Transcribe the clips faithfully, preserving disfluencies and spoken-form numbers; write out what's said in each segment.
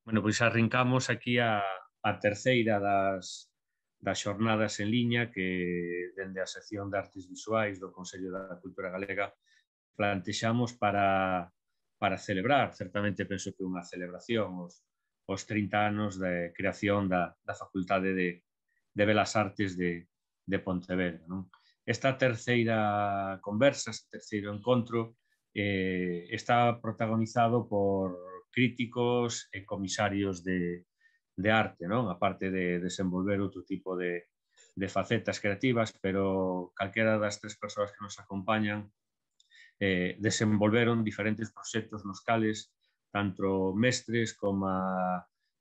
Bueno, pois arrincamos aquí a, a terceira das, das xornadas en liña que dende a sección de Artes Visuais do Consello da Cultura Galega plantexamos para, para celebrar, certamente penso que unha celebración, os, os trinta anos de creación da, da Facultade de, de Belas Artes de, de Pontevedra. Non? Esta terceira conversa, este terceiro encontro, eh, está protagonizado por críticos e comisarios de, de arte, non? Aparte de desenvolver outro tipo de, de facetas creativas, pero calquera das tres persoas que nos acompañan eh, desenvolveron diferentes proxectos nos cales tanto mestres como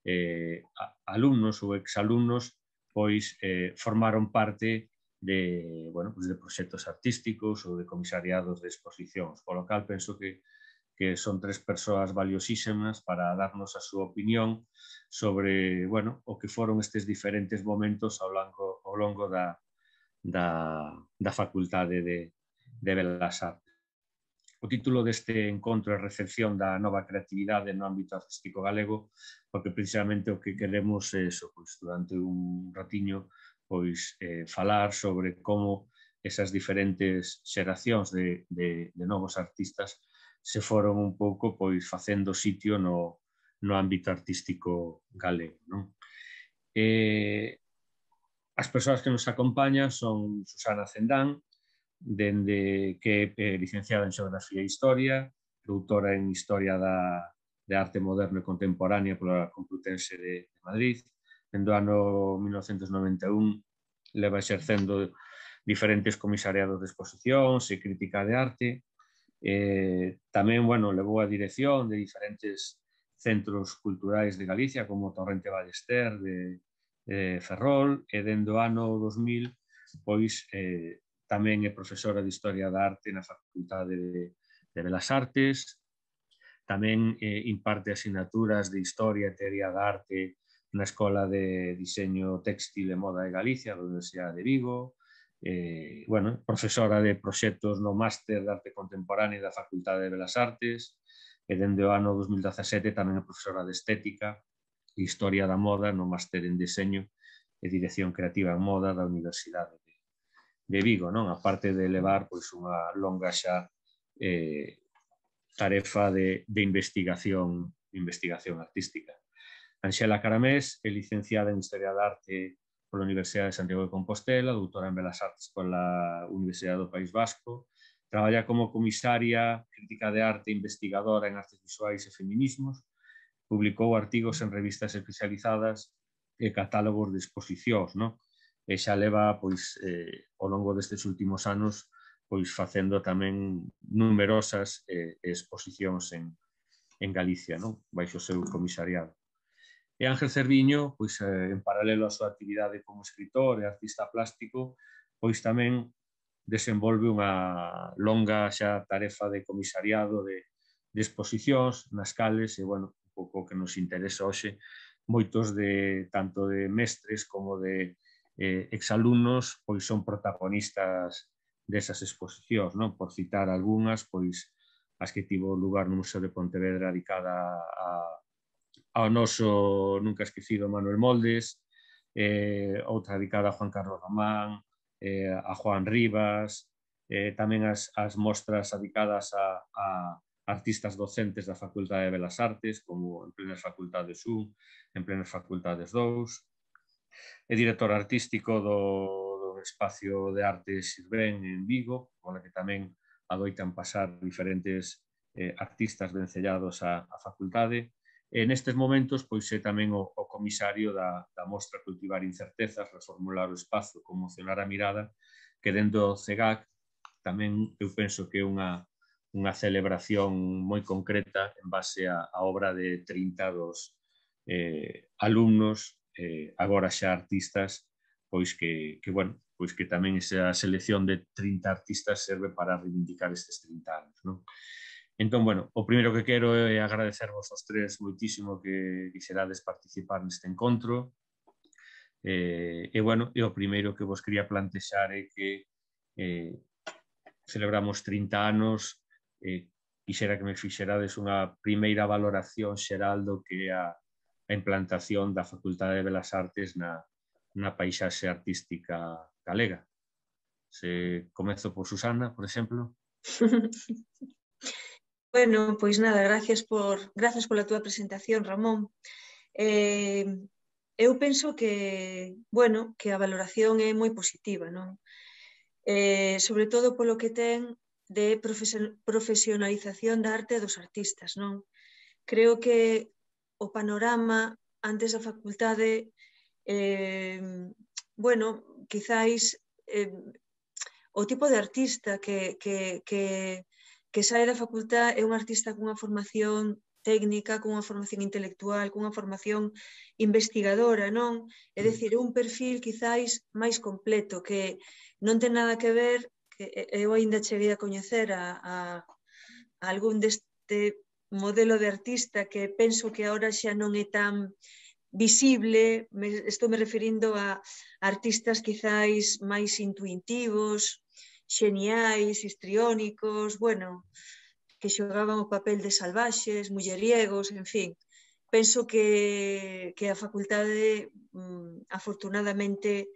eh, alumnos ou exalumnos pois eh, formaron parte de, bueno, pues de proxectos artísticos ou de comisariados de exposicións. Por lo cal, penso que que son tres persoas valiosísimas para darnos a súa opinión sobre, bueno, o que foron estes diferentes momentos ao longo, ao longo da, da, da Facultade de, de Belas Artes. O título deste encontro é Recepción da nova creatividade no ámbito artístico galego, porque precisamente o que queremos é eso, pois, durante un ratiño pois, eh, falar sobre como esas diferentes xeracións de, de, de novos artistas se foron un pouco pois facendo sitio no, no ámbito artístico galego. Non? Eh, as persoas que nos acompañan son Susana Cendán, dende que é licenciada en Xeografía e Historia, doutora en Historia da, de Arte Moderno e Contemporánea pola Complutense de, de Madrid. Dende o ano mil novecentos noventa e un leva exercendo diferentes comisariados de exposicións e crítica de arte. Eh, tamén, bueno, levou a dirección de diferentes centros culturais de Galicia, como Torrente Ballester, de, de Ferrol, e dende o ano dos mil, pois, eh, tamén é profesora de Historia da Arte na Facultade de, de Belas Artes, tamén eh, imparte asignaturas de Historia e Teoría da Arte na Escola de Diseño Téxtil e Moda de Galicia, da Universidade de Vigo, eh, bueno, profesora de proxectos no Máster de Arte Contemporánea da Facultade de Belas Artes, e dende o ano dos mil dezasete tamén é profesora de Estética e Historia da Moda no Máster en Diseño e Dirección Creativa en Moda da Universidade de, de Vigo, non? A parte de levar pois, unha longa xa eh, tarefa de, de investigación, investigación artística. Anxela Caramés é licenciada en Historia da Arte pola Universidade de Santiago de Compostela, doutora en Belas Artes pola Universidade do País Vasco, traballa como comisaria, crítica de arte e investigadora en artes visuais e feminismos, publicou artigos en revistas especializadas e catálogos de exposicións, non? E xa leva, pois, eh, ao longo destes últimos anos, pois, facendo tamén numerosas eh, exposicións en, en Galicia, non? Baixo o seu comisariado. E Ángel Cerviño, pois, eh, en paralelo á súa actividade como escritor e artista plástico, pois tamén desenvolve unha longa xa tarefa de comisariado de, de exposicións nas cales, e, bueno, un pouco que nos interesa hoxe, moitos de, tanto de mestres como de eh, exalumnos, pois son protagonistas desas exposicións, non? Por citar algunhas, pois as que tivo lugar no Museo de Pontevedra dedicada a ao noso nunca esquecido Manuel Moldes, eh, outra dedicada a Juan Carlos Román, eh, a Juan Rivas, eh, tamén as, as mostras dedicadas a, a artistas docentes da Facultade de Belas Artes, como en plenas facultades un, en plenas facultades dous, é director artístico do, do Espacio de Arte Sirvén en Vigo, con que tamén adoitan pasar diferentes eh, artistas vencellados á, á facultade. E nestes momentos, pois é tamén o, o comisario da, da mostra Cultivar Incertezas, Reformular o Espazo, Conmocionar a Mirada, que dentro do C E G A C tamén eu penso que é unha, unha celebración moi concreta en base á, á obra de trinta dos eh, alumnos, eh, agora xa artistas, pois que, que, bueno, pois que tamén esa selección de trinta artistas serve para reivindicar estes trinta anos, non? Entón, bueno, o primeiro que quero é agradecervos aos tres moitísimo que quixerades participar neste encontro. Eh, e, bueno, e o primeiro que vos quería plantexar é que eh, celebramos trinta anos, eh, quixera que me fixerades unha primeira valoración xeral do que é a, a implantación da Facultade de Belas Artes na, na paisaxe artística galega. Se comezo por Susana, por exemplo. Bueno, pois nada, gracias por gracias pola túa presentación, Ramón. Eh, eu penso que, bueno, que a valoración é moi positiva, non? Eh, sobre todo polo que ten de profesionalización da arte dos artistas, non? Creo que o panorama antes da facultade, eh, bueno, quizáis eh, o tipo de artista que, que, que, que sae da facultad é un artista cunha formación técnica, cunha formación intelectual, cunha formación investigadora, non? É dicir, un perfil quizáis máis completo, que non ten nada que ver, que eu ainda cheguei a coñecer a, a, a algún deste modelo de artista que penso que agora xa non é tan visible, me, estou me referindo a artistas quizáis máis intuitivos, xeniais, histriónicos, bueno, que xogaban o papel de salvaxes, mulleriegos, en fin. Penso que, que a facultade, mm, afortunadamente,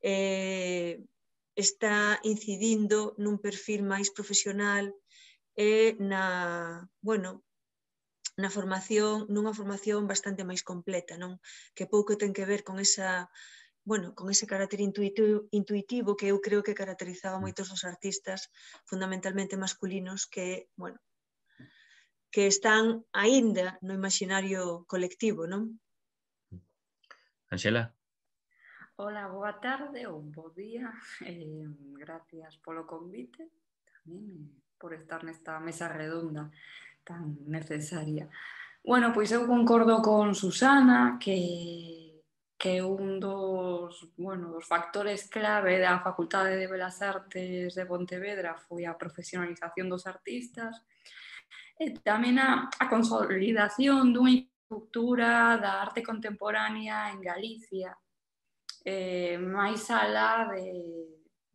eh, está incidindo nun perfil máis profesional e na, bueno, na formación, nunha formación bastante máis completa, non? Que pouco ten que ver con esa, bueno, con ese carácter intuitivo, intuitivo que eu creo que caracterizaba moitos dos artistas, fundamentalmente masculinos, que, bueno, que están aínda no imaginario colectivo, non? Ángela? Hola, boa tarde ou bo día. Eh, gracias polo convite, tamén por estar nesta mesa redonda tan necesaria. Bueno, pois eu concordo con Susana que, que un dos, bueno, dos factores clave da Facultade de Belas Artes de Pontevedra foi a profesionalización dos artistas e tamén a, a consolidación dunha estructura da arte contemporánea en Galicia, eh, máis alá de,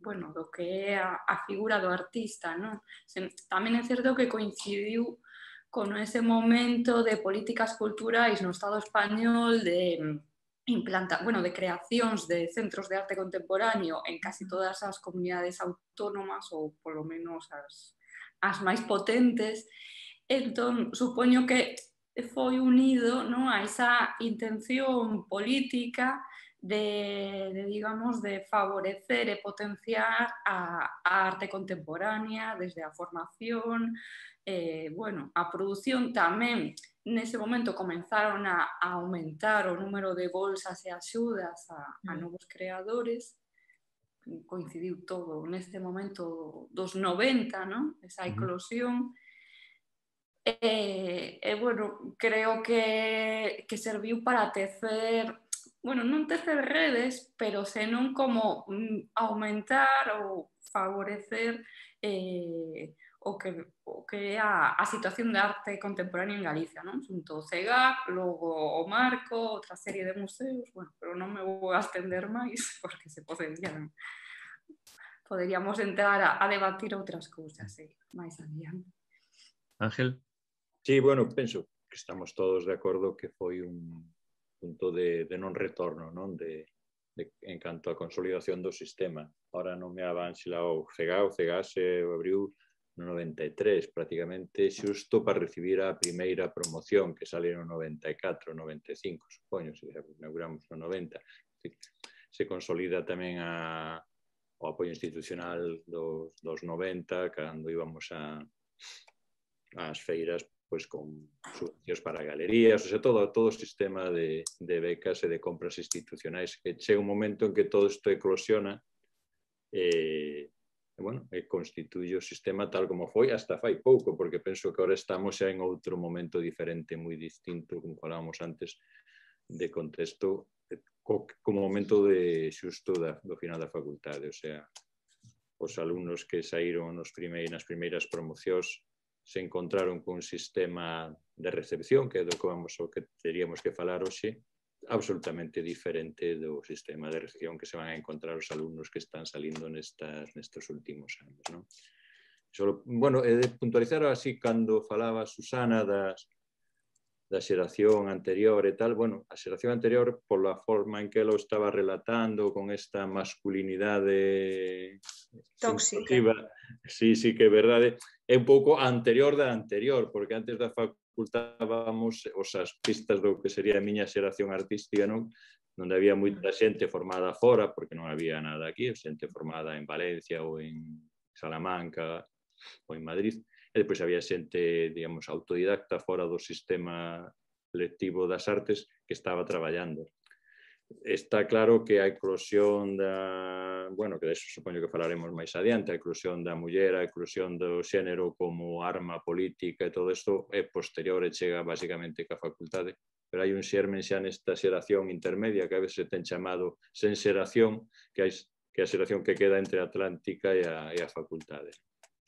bueno, do que é a, a figura do artista, non? Tamén é certo que coincidiu con ese momento de políticas culturais no Estado español de implanta, bueno, de creacións de centros de arte contemporáneo en casi todas as comunidades autónomas ou polo menos as, as máis potentes. Entón, supoño que foi unido, non, a esa intención política de, de, digamos, de favorecer e potenciar a, a arte contemporánea desde a formación, eh, bueno, a produción tamén. Nese momento comenzaron a, a aumentar o número de bolsas e axudas a, a novos creadores, coincidiu todo neste momento dos noventa, non? Esa eclosión. E, e bueno, creo que, que serviu para tecer, bueno, non tecer redes, pero senón como aumentar ou favorecer eh, o que, o que é a, a situación de arte contemporánea en Galicia, non? Xunto o CEGAC, logo o Marco, outra serie de museos, bueno, pero non me vou a estender máis, porque se poderían, poderíamos entrar a, a debatir outras cousas, eh, máis adiante. Ángel? Sí, bueno, penso que estamos todos de acordo que foi un punto de, de non retorno, non? De, de, en canto a consolidación do sistema. Ahora non me avanxila o CEGA, o CEGA se abriu no noventa e tres, prácticamente xusto para recibir a primeira promoción que sale no noventa e catro, noventa e cinco, supoño, se inauguramos no noventa. Se consolida tamén a, o apoio institucional dos, dos noventa, cando íbamos a, as feiras pois con subvencións para galerías, o sea, todo, todo o sistema de, de becas e de compras institucionais, que chega un momento en que todo isto eclosiona e, e, bueno, e constituye o sistema tal como foi hasta fai pouco, porque penso que agora estamos xa en outro momento diferente, moi distinto, como falábamos antes, de contexto, co, como momento de xusto da, do final da facultade, o sea, os alumnos que saíron nos primeiras, nas primeiras promocións se encontraron con un sistema de recepción, que é do que vamos o que teríamos que falar hoxe, absolutamente diferente do sistema de recepción que se van a encontrar os alumnos que están salindo nestas, nestes últimos anos, non? Solo, bueno, é de puntualizar así, cando falaba Susana das, da xeración anterior e tal, bueno, a xeración anterior pola forma en que lo estaba relatando con esta masculinidade tóxica. Sí, sí que é verdade, é un pouco anterior da anterior, porque antes da facultad vamos os artistas do que sería a miña xeración artística, non? Onde había moita xente formada fora, porque non había nada aquí, xente formada en Valencia ou en Salamanca ou en Madrid, e depois había xente, digamos, autodidacta fora do sistema lectivo das artes que estaba traballando. Está claro que a eclosión da... Bueno, que deso supoño que falaremos máis adiante, a eclosión da muller, a eclosión do xénero como arma política e todo isto é posterior e chega basicamente ca facultade, pero hai un xermen xa nesta xeración intermedia que a veces se ten chamado sen xeración, que, hai, que é a xeración que queda entre a Atlántica e a, e a facultade.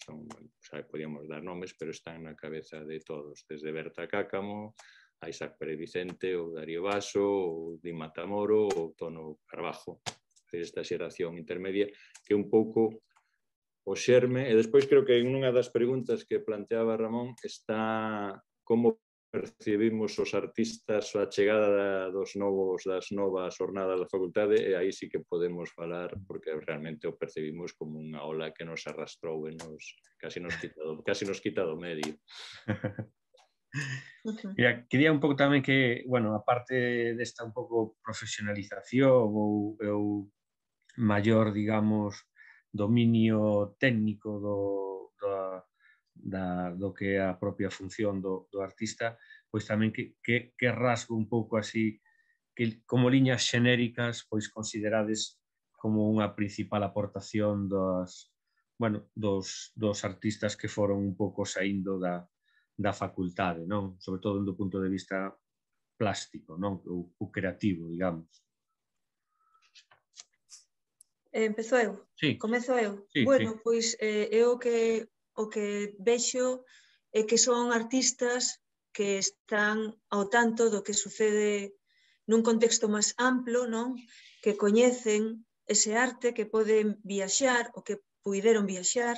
Son, xa podíamos dar nomes, pero están na cabeza de todos, desde Berta Cácamo a Isaac Pérez Vicente, ou Darío Baso, ou Di Matamoro, ou Tono Carbajo, esta xeración intermedia, que é un pouco o xerme, e despois creo que en unha das preguntas que planteaba Ramón está como percibimos os artistas a chegada dos novos, das novas jornadas da facultade, e aí sí que podemos falar, porque realmente o percibimos como unha ola que nos arrastrou e nos, casi nos quita do, casi nos quita do medio. Mira, quería un pouco tamén que, bueno, aparte desta un pouco profesionalización ou, ou maior, digamos, dominio técnico do, do, da, do que é a propia función do, do artista, pois tamén que, que, que rasgo un pouco así, que como liñas xenéricas, pois considerades como unha principal aportación dos, bueno, dos, dos artistas que foron un pouco saindo da, da facultade, non? Sobre todo do punto de vista plástico, non? O, o creativo, digamos. Empezo eu? Sí. Comezo eu? Sí, bueno, sí. pois eh, eu o que, o que vexo é que son artistas que están ao tanto do que sucede nun contexto máis amplo, non? Que coñecen ese arte, que poden viaxar, o que puideron viaxar.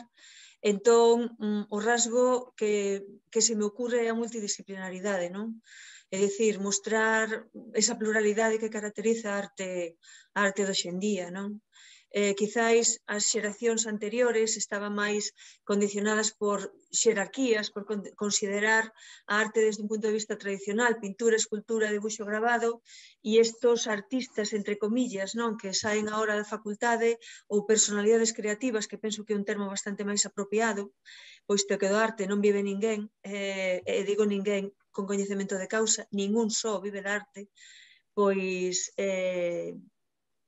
Entón, o rasgo que, que se me ocurre é a multidisciplinaridade, non? É dicir, mostrar esa pluralidade que caracteriza a arte, a arte de hoxendía, non? Eh, quizáis as xeracións anteriores estaban máis condicionadas por xerarquías, por considerar a arte desde un punto de vista tradicional, pintura, escultura, debuxo, grabado, e estos artistas, entre comillas, non, que saen agora da facultade, ou personalidades creativas, que penso que é un termo bastante máis apropiado, pois que do arte non vive ninguén, eh, e digo ninguén con coñecemento de causa, ningún só vive de arte, pois eh,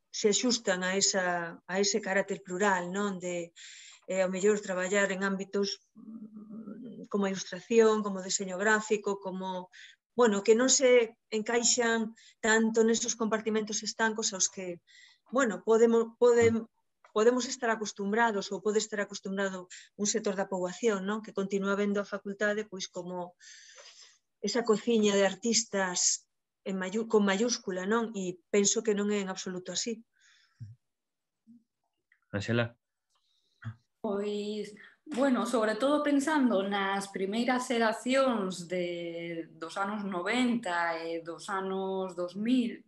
se axustan a, esa, a ese carácter plural, non? De, eh, ao mellor, traballar en ámbitos como a ilustración, como o deseño gráfico, como, bueno, que non se encaixan tanto nesos compartimentos estancos aos que, bueno, podemos, podem, podemos estar acostumbrados ou pode estar acostumbrado un sector da poboación, non? Que continúa vendo a facultade pois como esa cociña de artistas en mayu, con mayúscula, non? E penso que non é en absoluto así. Ángela? Pois, bueno, sobre todo pensando nas primeiras xeracións de, dos anos noventa e dos anos dos mil,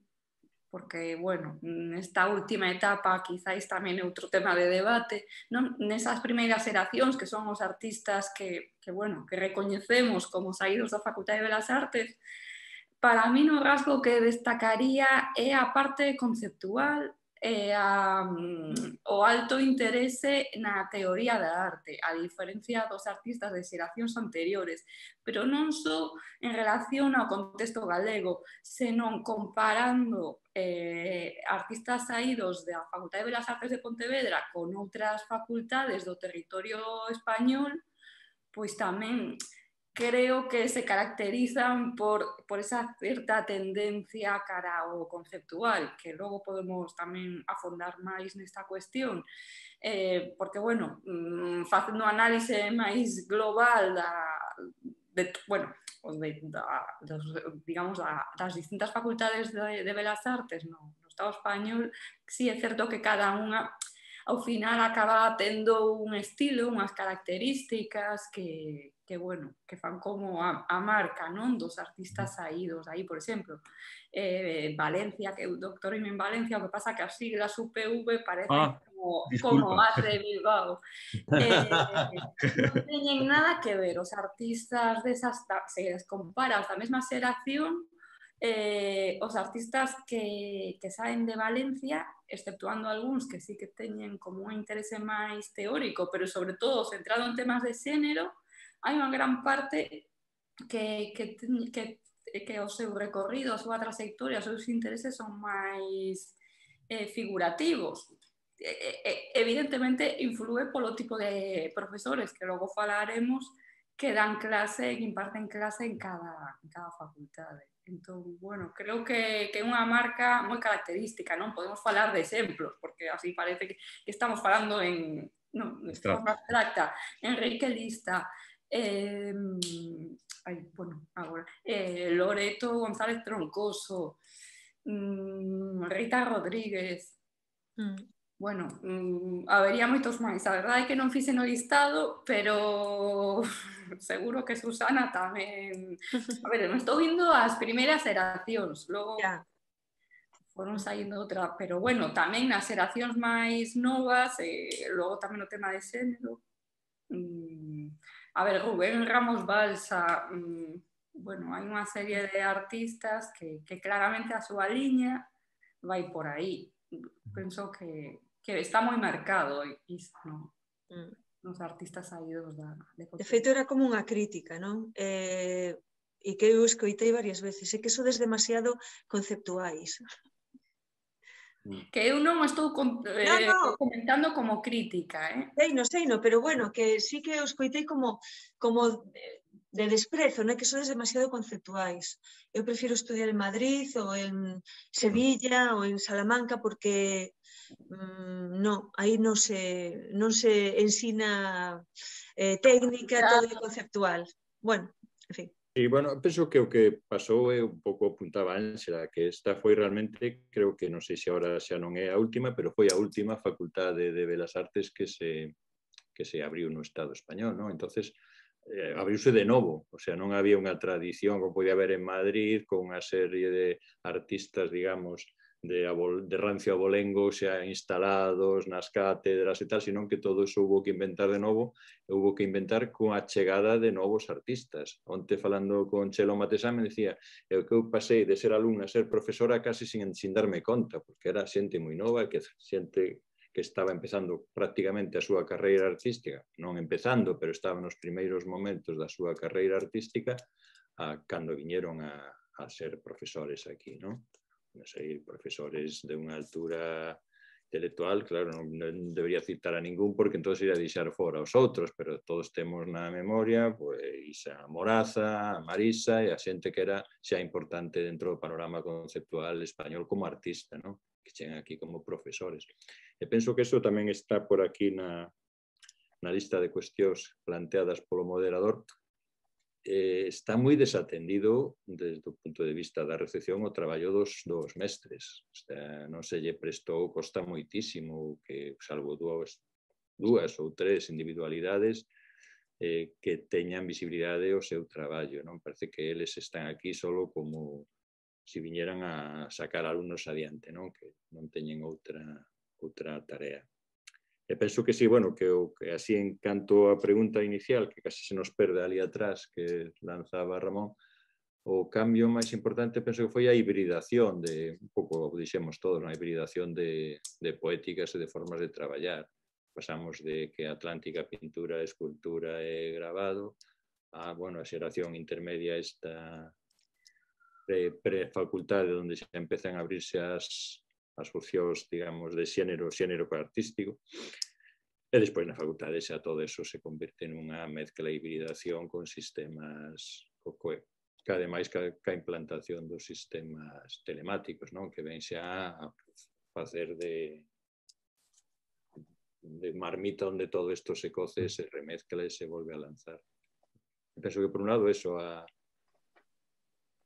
porque, bueno, nesta última etapa quizáis tamén é outro tema de debate, non? Nesas primeiras xeracións que son os artistas que, que, bueno, que recoñecemos como saídos da Facultade de Belas Artes, para mí o rasgo que destacaría é a parte conceptual e a, o alto interese na teoría da arte, a diferencia dos artistas de xeracións anteriores, pero non só en relación ao contexto galego, senón comparando eh, artistas saídos da Facultade de Belas Artes de Pontevedra con outras facultades do territorio español, pois tamén creo que se caracterizan por, por esa certa tendencia cara ao conceptual, que logo podemos tamén afondar máis nesta cuestión, eh, porque, bueno, facendo un análise máis global da, de, bueno, de, da, dos, digamos, da, das distintas facultades de, de Belas Artes no, no Estado español, sí é certo que cada unha ao final acaba tendo un estilo, unhas características que, que que bueno, que fan como a, a marca, non? Dos artistas saídos aí, por exemplo, eh, Valencia, que eu doctorime en Valencia, o que pasa que as siglas U P V parecen Ah, como, como disculpa. as de Bilbao. Eh, non teñen nada que ver os artistas desas, se les comparas da mesma xeración, eh, os artistas que, que saen de Valencia, exceptuando algúns que sí que teñen como un interese máis teórico, pero sobre todo centrado en temas de xénero, hai unha gran parte que, que, que, que o seu recorrido, a súa trayectoria, os seus intereses son máis eh, figurativos. Eh, evidentemente influe polo tipo de profesores que logo falaremos que dan clase, que imparten clase en cada, en cada facultade. Entón, bueno, creo que, que é unha marca moi característica, non podemos falar de exemplos, porque así parece que, que estamos falando en, no, de forma abstracta. Enrique Lista, eh, ay, bueno, agora, eh, Loreto González Troncoso, mm, Rita Rodríguez, mm. Bueno, mmm, habería moitos máis. A verdade é que non fixe no listado, pero seguro que Susana tamén... A ver, me estou vindo as primeiras xeracións, logo yeah. foron saindo outra, pero bueno, tamén nas xeracións máis novas, e logo tamén o tema de xénero. Mm, a ver, Rubén Ramos Balsa, mm, bueno, hai unha serie de artistas que, que claramente a súa liña vai por aí. Penso que que está moi marcado isto, non? Mm. Nos artistas saídos da... De, de feito, era como unha crítica, non? Eh, e que eu escoitei varias veces, é que sodes demasiado conceptuais. Que eu non estou con, eh, no, no. comentando como crítica, eh? Sei, no, sei, no, pero bueno, que sí que eu escoitei como, como de desprezo, non? Que sodes demasiado conceptuais. Eu prefiro estudiar en Madrid ou en Sevilla ou en Salamanca porque Mm, no, aí non se, non se ensina eh, técnica, todo é conceptual. Bueno, en fin. E, bueno, penso que o que pasou é un pouco apuntaba Ángela, que esta foi realmente, creo que non sei se agora xa non é a última, pero foi a última facultade de Belas Artes que se, que se abriu no Estado español, non? Entonces, eh, abriuse de novo, o sea, non había unha tradición como podía haber en Madrid, con unha serie de artistas, digamos, de, de rancio abolengo xa instalados nas cátedras e tal, sino que todo eso hubo que inventar de novo, e hubo que inventar con a chegada de novos artistas. Onte falando con Chelo Matesán me decía eu que eu pasei de ser alumna a ser profesora casi sin, sin darme conta, porque era xente moi nova, que xente que estaba empezando prácticamente a súa carreira artística, non empezando, pero estaba nos primeiros momentos da súa carreira artística, a, cando viñeron a, a ser profesores aquí, non? Non sei, profesores de unha altura intelectual, claro, non, non debería citar a ningún porque entonces iría a deixar fora os outros, pero todos temos na memoria pois a Moraza, a Marisa e a xente que era xa importante dentro do panorama conceptual español como artista, non? Que chegan aquí como profesores. E penso que iso tamén está por aquí na, na lista de cuestións planteadas polo moderador. Eh, está moi desatendido desde o punto de vista da recepción o traballo dos, dos mestres. O sea, non se lle prestou, costa moitísimo que, salvo dúas, dúas ou tres individualidades eh, que teñan visibilidade o seu traballo. Non parece que eles están aquí solo como se viñeran a sacar alumnos adiante, non? Que non teñen outra, outra tarea. E penso que sí, bueno, que, o, que así en canto a pregunta inicial, que casi se nos perde ali atrás, que lanzaba Ramón, o cambio máis importante penso que foi a hibridación de, un pouco dixemos todos, a hibridación de, de poéticas e de formas de traballar. Pasamos de que Atlántica, pintura, escultura e grabado, a, bueno, a xeración intermedia esta pre-facultade, onde xa empezan a abrirse as as funcións, digamos, de xénero, xénero artístico. E despois na facultade xa todo eso se converte nunha mezcla e hibridación con sistemas, que ademais ca implantación dos sistemas telemáticos, non? Que ven xa a facer de, de marmita onde todo isto se coce, se remezcla e se volve a lanzar. Penso que por un lado eso a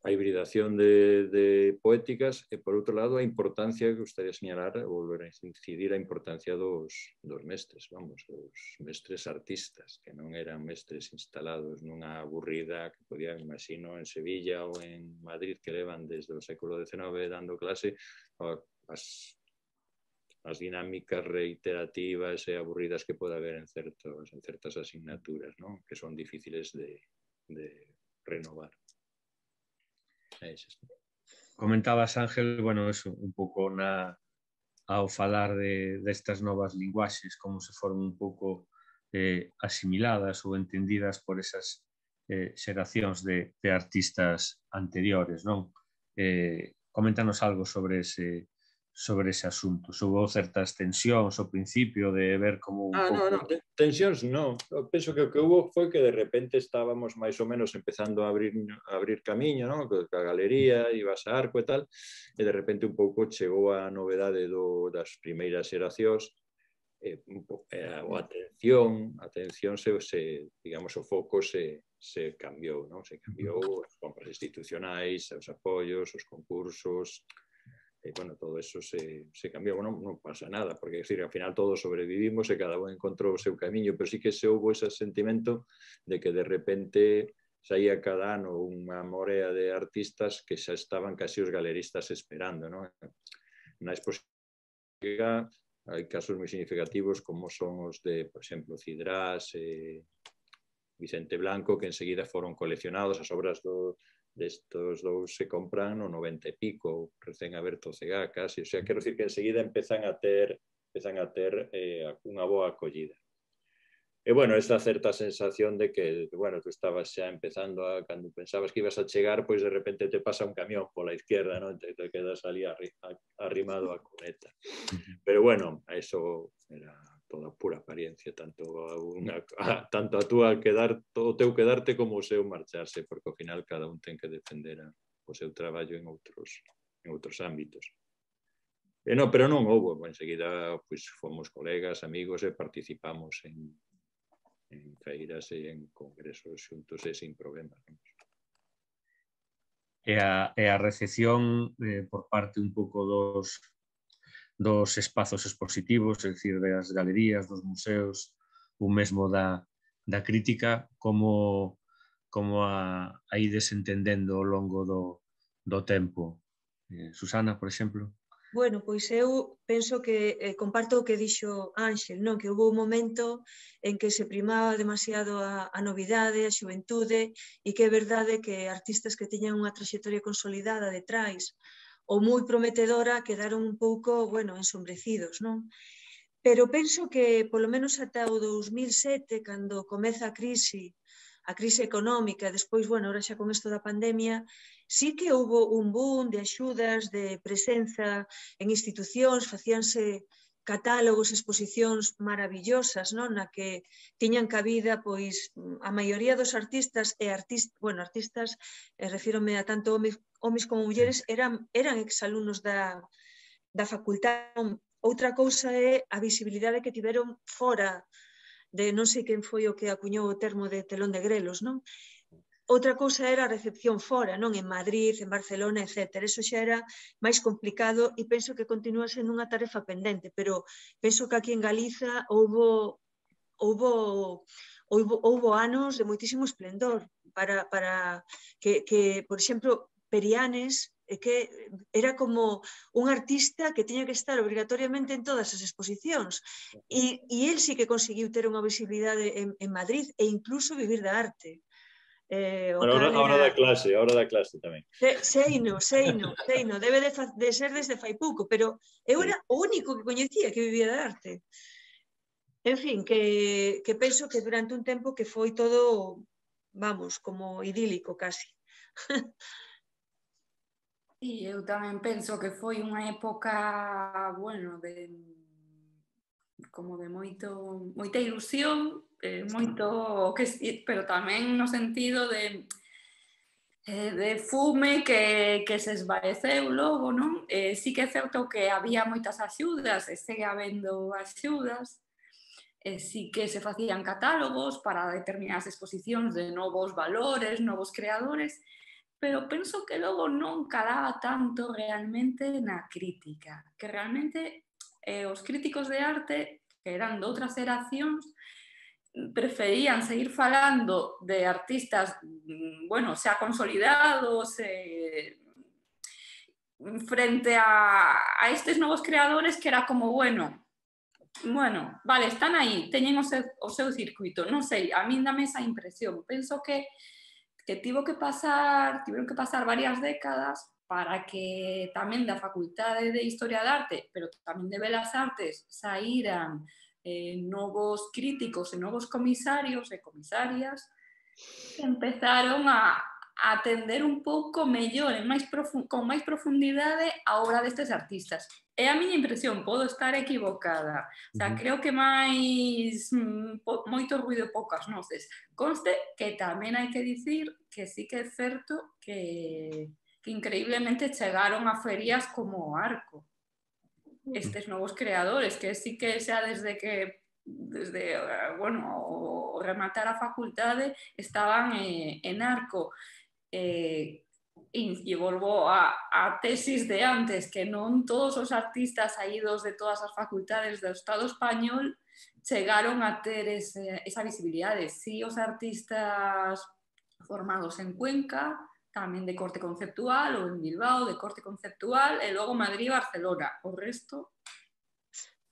a hibridación de, de poéticas e, por outro lado, a importancia que gustaría señalar, volver a incidir a importancia dos, dos mestres, vamos, dos mestres artistas, que non eran mestres instalados nunha aburrida que podían, imagino, en Sevilla ou en Madrid, que levan desde o século decenove dando clase, as, as dinámicas reiterativas e aburridas que pode haber en, certos, en certas asignaturas, ¿no? Que son difíciles de, de renovar. Comentabas, Ángel, bueno, eso, un pouco na, ao falar de, destas novas linguaxes, como se foron un pouco eh, asimiladas ou entendidas por esas eh, xeracións de, de artistas anteriores, non? Eh, coméntanos algo sobre ese, sobre ese asunto. Houve certas tensións ao principio de ver como un ah, pouco... No, no, tensións non. Eu penso que o que hubo foi que de repente estábamos máis ou menos empezando a abrir, a abrir camiño, non? Que a galería, ibas a Arco e tal, e de repente un pouco chegou a novedade do, das primeiras xeracións, e, e a, a atención, a atención se, se, digamos, o foco se, se cambiou, non? Se cambiou as compras institucionais, os apoios, os concursos... E, bueno, todo eso se, se cambiou, non, non pasa nada, porque, decir, ao final todos sobrevivimos e cada un encontrou o seu camiño, pero sí que se houve ese sentimento de que de repente saía cada ano unha morea de artistas que xa estaban casi os galeristas esperando, non? Na exposición hai casos moi significativos como son os de, por exemplo, Cidrás e Vicente Blanco, que enseguida foron coleccionados, as obras do destos dous se compran no noventa e pico, recén aberto o C E G A casi, o sea, quero dicir que enseguida empezan a ter, empezan a ter eh, unha boa acollida. E, bueno, esta certa sensación de que, bueno, tú estabas xa empezando a, cando pensabas que ibas a chegar, pois de repente te pasa un camión pola izquierda, non? Te, te quedas ali arrimado a cuneta. Pero, bueno, eso era toda pura apariencia, tanto a, unha, a, tanto a tú a quedar, o teu quedarte como o seu marcharse, porque ao final cada un ten que defender a, o seu traballo en outros, en outros ámbitos. E non, pero non houve, enseguida pois, fomos colegas, amigos e participamos en, en feiras e en congresos xuntos e sin problemas. Non? E a, e a recepción eh, por parte un pouco dos dos espazos expositivos, é dicir, das galerías, dos museos, ou mesmo da, da crítica, como, como a, a ides entendendo ao longo do, do tempo. Eh, Susana, por exemplo? Bueno, pois eu penso que eh, comparto o que dixo Ángel, non? Que houve un momento en que se primaba demasiado a, a novidade, a xuventude, e que é verdade que artistas que tiñan unha traxectoria consolidada detrás ou moi prometedora quedaron un pouco, bueno, ensombrecidos, non? Pero penso que, polo menos ata o dos mil sete, cando comeza a crise, a crise económica, despois, bueno, ahora xa con isto da pandemia, sí que houve un boom de axudas, de presenza en institucións, facíanse catálogos, exposicións maravillosas, non? Na que tiñan cabida, pois, a maioría dos artistas e artistas, bueno, artistas, eh, refírome a tanto homes, homes como mulleres, eran, eran exalumnos da, da facultade. Outra cousa é a visibilidade que tiveron fora de, non sei quen foi o que acuñou o termo de telón de grelos, non? Outra cousa era a recepción fora, non? En Madrid, en Barcelona, etcétera. Eso xa era máis complicado e penso que continúa sendo unha tarefa pendente, pero penso que aquí en Galiza houbo, houbo, houbo, houbo anos de moitísimo esplendor para, para que, que, por exemplo, Perianes, que era como un artista que tiña que estar obrigatoriamente en todas as exposicións e, e el sí que conseguiu ter unha visibilidade en, en Madrid e incluso vivir da arte. Eh, bueno, ahora, ahora era... da clase, ahora da clase tamén. Se, seino, seino, seino, debe de, fa, de ser desde fai pouco, pero eu era o único que coñecía que vivía da arte. En fin, que, que penso que durante un tempo que foi todo, vamos, como idílico casi. E eu tamén penso que foi unha época, bueno, de como de moito, moita ilusión, eh, moito, que, pero tamén no sentido de eh, de fume que, que se esvaeceu logo, non? Eh, sí que é certo que había moitas axudas, e segue habendo axudas, eh, sí que se facían catálogos para determinadas exposicións de novos valores, novos creadores, pero penso que logo non calaba tanto realmente na crítica, que realmente eh, os críticos de arte, que eran de outras xeracións, preferían seguir falando de artistas, bueno, xa consolidados, eh, frente a, a estes novos creadores que era como, bueno, bueno, vale, están aí, teñen o seu, o seu circuito, non sei, a min dame esa impresión. Penso que, que tivo que pasar, tiveron que pasar varias décadas para que tamén da Facultade de Historia de Arte, pero tamén de Belas Artes, saíran eh, novos críticos e novos comisarios e comisarias que empezaron a, a atender un pouco mellor, en máis con máis profundidade a obra destes artistas. É a miña impresión, podo estar equivocada. O sea, creo que máis mm, moito ruido e poucas noces. Conste que tamén hai que dicir que sí que é certo que, que increíblemente chegaron a ferias como o Arco estes novos creadores, que sí que xa desde que desde, bueno, o rematar a facultade estaban eh, en Arco. Eh, e volvo a, a tesis de antes, que non todos os artistas saídos de todas as facultades do Estado español chegaron a ter ese, esa visibilidade. Si os artistas formados en Cuenca, tamén de corte conceptual, ou en Bilbao, de corte conceptual, e logo Madrid e Barcelona. O resto...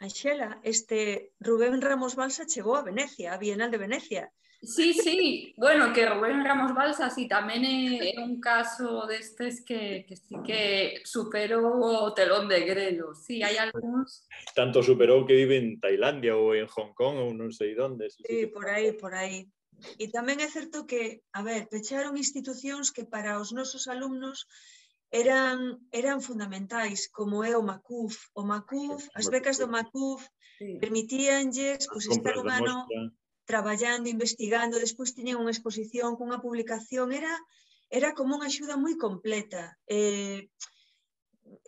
Anxela, este Rubén Ramos Balsa chegou a Venecia, a Bienal de Venecia. Sí, sí, bueno, que Rubén Ramos Balsa sí, tamén é, é un caso destes que, que sí que superou o telón de grelo. Sí, hai algúns... Tanto superou que vive en Tailandia ou en Hong Kong ou non sei onde. Sí, sí, por aí, por aí. E tamén é certo que, a ver, pecharon institucións que para os nosos alumnos eran, eran fundamentais, como é o Macuf. O Macuf, as becas do Macuf permitíanlles pues, estar un ano traballando, investigando, despois tiñen unha exposición cunha publicación, era, era como unha axuda moi completa. Eh,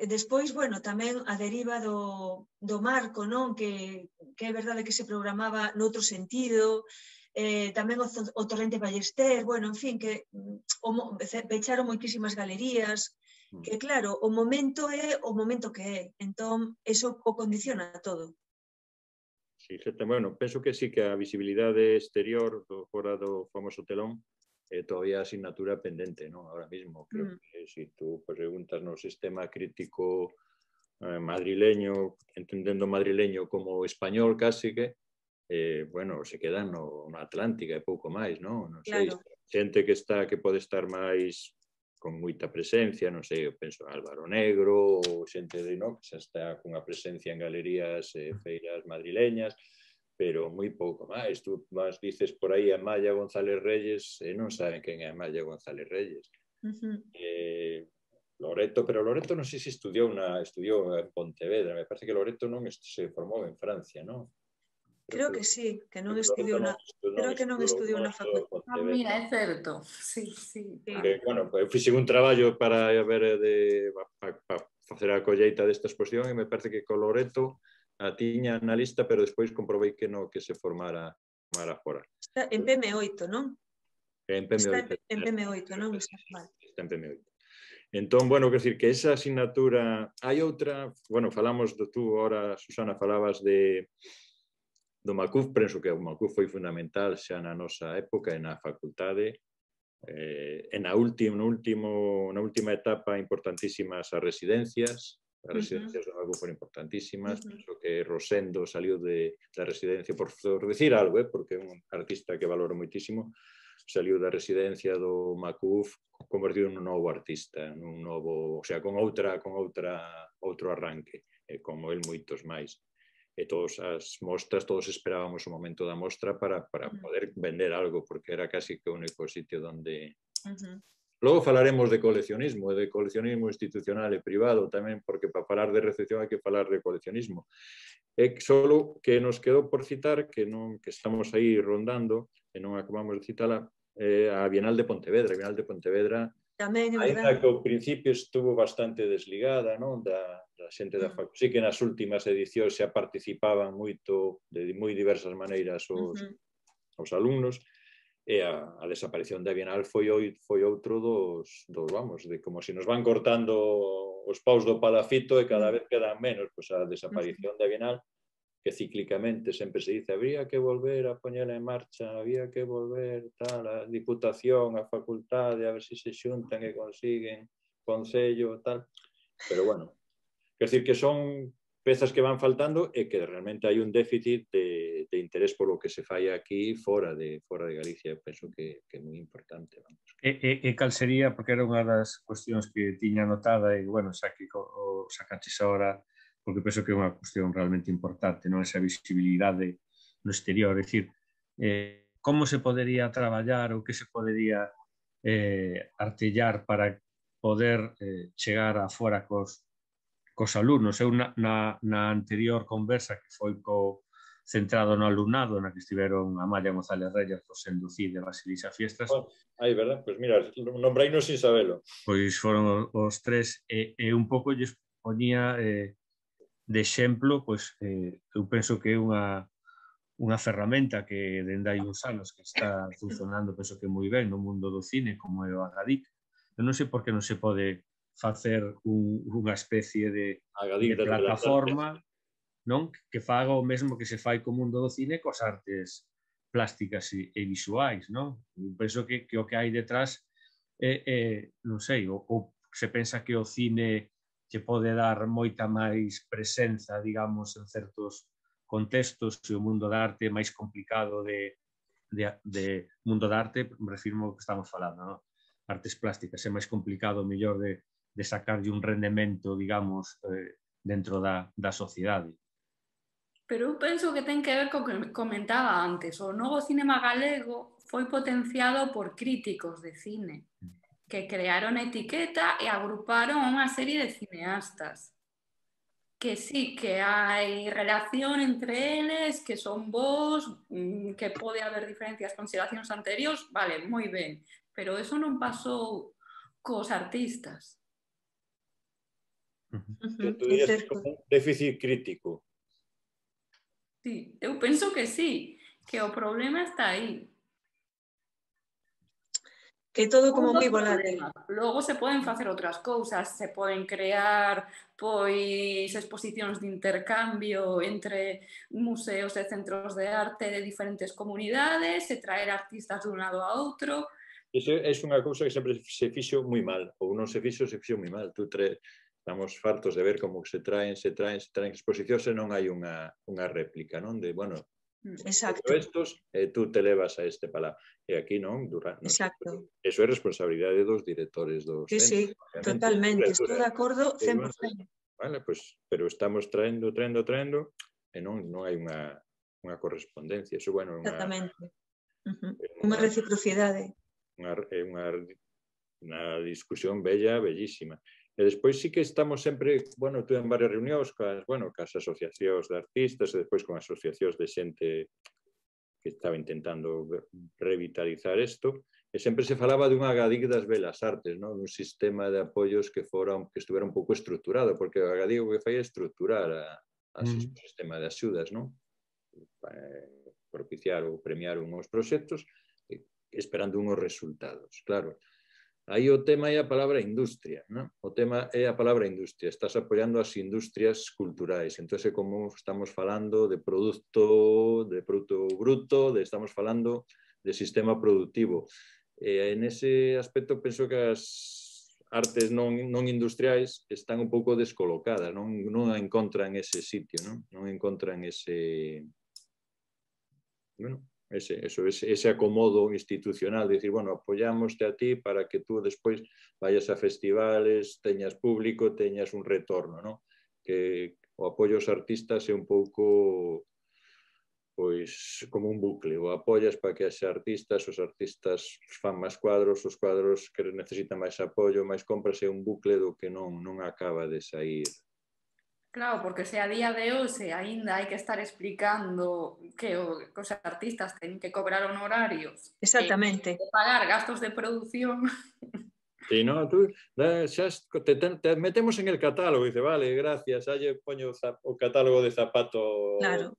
despois, bueno, tamén a deriva do, do marco, non? Que, que é verdade que se programaba noutro sentido, eh, tamén o, o Torrente Ballester, bueno, en fin, que o, pecharon moitísimas galerías, que claro, o momento é o momento que é, entón, eso o condiciona todo. Sí, bueno, penso que sí que a visibilidade exterior do fora do famoso telón é todavía asignatura pendente, ¿no? Ahora mismo, creo mm. que si tú pues, preguntas no sistema crítico eh, madrileño, entendendo madrileño como español casi que, eh, bueno, se quedan no, no Atlántica e pouco máis, ¿no? Non sei, claro. Xente que está que pode estar máis con moita presencia, non sei, eu penso Álvaro Negro, ou xente de, no, que xa está cunha presencia en galerías e eh, feiras madrileñas, pero moi pouco máis. Tú vas, dices por aí a Maya González Reyes e non saben quen é a Maya González Reyes. Uh-huh. eh, Loreto, pero Loreto non sei se estudiou, na, estudiou en Pontevedra, me parece que Loreto non se formou en Francia, non? Creo que sí, que non estudiou na... Creo que non estudiou na facultade. Ah, mira, é certo. Sí, sí. Que, bueno, eu fixe un traballo para ver de para pa facer a colleita desta exposición e me parece que co Loreto a tiña na lista, pero despois comprobei que no que se formara formara fora. Está en P M oito, non? En P M oito. Está en P M oito, non? Está mal. Está en P M oito. Entón, bueno, quer decir que esa asignatura... Hai outra... Bueno, falamos de tú, ahora, Susana, falabas de do Macuf, penso que o Macuf foi fundamental xa na nosa época e na facultade. Eh, e na última, no último, na última etapa importantísimas as residencias. As residencias uh-huh. do Macuf foron importantísimas. Uh-huh. Penso que Rosendo saliu de, da residencia, por, por decir algo, eh, porque é un artista que valoro moitísimo, saliu da residencia do Macuf convertido nun novo artista, nun novo, o sea, con outra, con outra, outro arranque, eh, como el moitos máis. E todas as mostras, todos esperábamos o momento da mostra para, para uh-huh. poder vender algo, porque era casi que o único sitio donde... Uh-huh. Logo falaremos de coleccionismo, de coleccionismo institucional e privado tamén, porque para falar de recepción hai que falar de coleccionismo. É solo que nos quedou por citar, que non que estamos aí rondando, e non acabamos de citala, eh, a Bienal de Pontevedra. A Bienal de Pontevedra, tamén, ainda que ao principio estuvo bastante desligada, non, da, da xente da facultade. Sí que nas últimas edicións xa participaban moito, de moi diversas maneiras os, uh-huh. os alumnos, e a, a desaparición da Bienal foi, foi outro dos, dos, vamos, de como se nos van cortando os paus do palafito e cada vez quedan menos, pois a desaparición da Bienal, que cíclicamente sempre se dice, habría que volver a poñela en marcha, había que volver, tal, a Diputación, a Facultade, a ver se se xuntan e consiguen Concello, tal, pero bueno, quer decir que son pezas que van faltando e que realmente hai un déficit de, de interés polo que se fai aquí fora de, fora de Galicia. Eu penso que, que é moi importante. Vamos. E, e, e cal sería, porque era unha das cuestións que tiña anotada e, bueno, xa que o sacaches ahora, porque penso que é unha cuestión realmente importante, non esa visibilidade no exterior, é dicir, eh, como se podería traballar ou que se podería eh, artellar para poder eh, chegar a fora cos cos alumnos. Eu na, na, na anterior conversa que foi co, centrado no alumnado, na que estiveron Amalia González Reyes, José Cid e Basilisa Fiestas. Oh, aí, verdad? Pois mira, nombreinos sin sabelo. Pois foron os tres e, e un pouco lles poñía eh, de exemplo, pois eh, eu penso que é unha unha ferramenta que dende hai uns anos que está funcionando, penso que moi ben no mundo do cine, como é o Agadic. Eu non sei por que non se pode facer un, unha especie de, de plataforma, non, que faga o mesmo que se fai co mundo do cine cos artes plásticas e, e visuais, non? Eu penso que, que o que hai detrás é, é non sei, ou, ou se pensa que o cine che pode dar moita máis presenza, digamos, en certos contextos, e o mundo da arte é máis complicado de, de, de mundo da arte, me refirmo ao que estamos falando, non? Artes plásticas é máis complicado, mellor de de sacarlle un rendemento, digamos, eh, dentro da, da sociedade. Pero eu penso que ten que ver co que comentaba antes. O novo cinema galego foi potenciado por críticos de cine que crearon a etiqueta e agruparon unha serie de cineastas. Que sí, que hai relación entre eles, que son vos, que pode haber diferencias con xeracións anteriores, vale, moi ben. Pero eso non pasou cos artistas. Que tú dirías que como un déficit crítico. Sí, eu penso que sí, que o problema está aí. Que todo como moi volátil. Logo se poden facer outras cousas, se poden crear pois exposicións de intercambio entre museos e centros de arte de diferentes comunidades, e traer artistas dun lado a outro. Iso é unha cousa que sempre se fixo moi mal, ou non se fixo, se fixo moi mal. Tú tre... Estamos fartos de ver como se traen, se traen, se traen exposicións e non hai unha, unha réplica, non? De, bueno, exacto. Estos, eh, tú te levas a este palá. E aquí non, durante, non exacto. Eso é responsabilidade dos directores dos sí, centros. Sí, totalmente, estou de acordo cen por cento. Vale, pues, pero estamos traendo, traendo, traendo e non, non hai unha, unha correspondencia. Eso, bueno, unha, exactamente. Uh-huh. Unha reciprocidade. Unha, unha, unha discusión bella, bellísima. E despois sí que estamos sempre, bueno, tú en varias reunións cas, bueno, cas asociacións de artistas e despois con asociacións de xente que estaba intentando revitalizar isto, e sempre se falaba dunha Agadic das Belas Artes, non? Dun sistema de apoios que fora que estuvera un pouco estruturado, porque o Agadic o que fai é estruturar a, a mm. sistema de axudas, non? Para propiciar ou premiar unhos proxectos esperando unhos resultados, claro. Aí o tema é a palabra industria, non? O tema é a palabra industria. Estás apoiando as industrias culturais. Entón, é como estamos falando de produto, de produto bruto, de, estamos falando de sistema productivo. E en ese aspecto penso que as artes non, non industriais están un pouco descolocadas, non, non encontran ese sitio, non? Non encontran ese... Bueno, Ese, eso, ese, ese acomodo institucional, de decir, bueno, apoyámoste a ti para que tú despois vayas a festivales, teñas público, teñas un retorno, ¿no? Que o apoio aos artistas é un pouco pois como un bucle, o apoias para que haxa artistas, os artistas fan máis cuadros, os cuadros que necesitan máis apoio, máis compras, é un bucle do que non, non acaba de sair. Claro, porque se a día de hoxe aínda hai que estar explicando que, o, que os artistas teñen que cobrar honorarios, exactamente, e pagar gastos de produción. Sí, no, tú xa te, te metemos en el catálogo, dice, vale, gracias, aí poño o catálogo de zapato. Claro.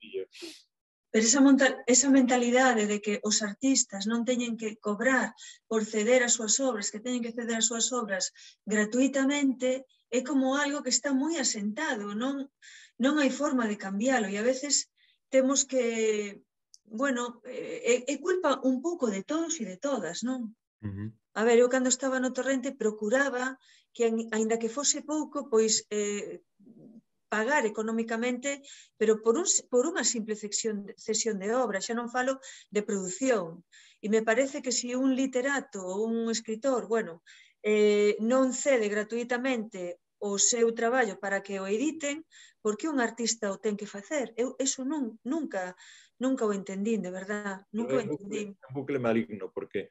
Pero esa, esa mentalidade de que os artistas non teñen que cobrar por ceder as súas obras, que teñen que ceder as súas obras gratuitamente, é como algo que está moi asentado, non, non hai forma de cambiálo, e a veces temos que, bueno, é, é culpa un pouco de todos e de todas, non? Uh-huh. A ver, eu cando estaba no Torrente procuraba que, aínda que fose pouco, pois eh, pagar económicamente, pero por, un, por unha simple cesión, cesión de obra, xa non falo de produción. E me parece que se un literato ou un escritor, bueno, eh, non cede gratuitamente o seu traballo para que o editen, por que un artista o ten que facer? Eu eso non, nunca, nunca o entendín, de verdad, nunca o entendín. É un bucle maligno, porque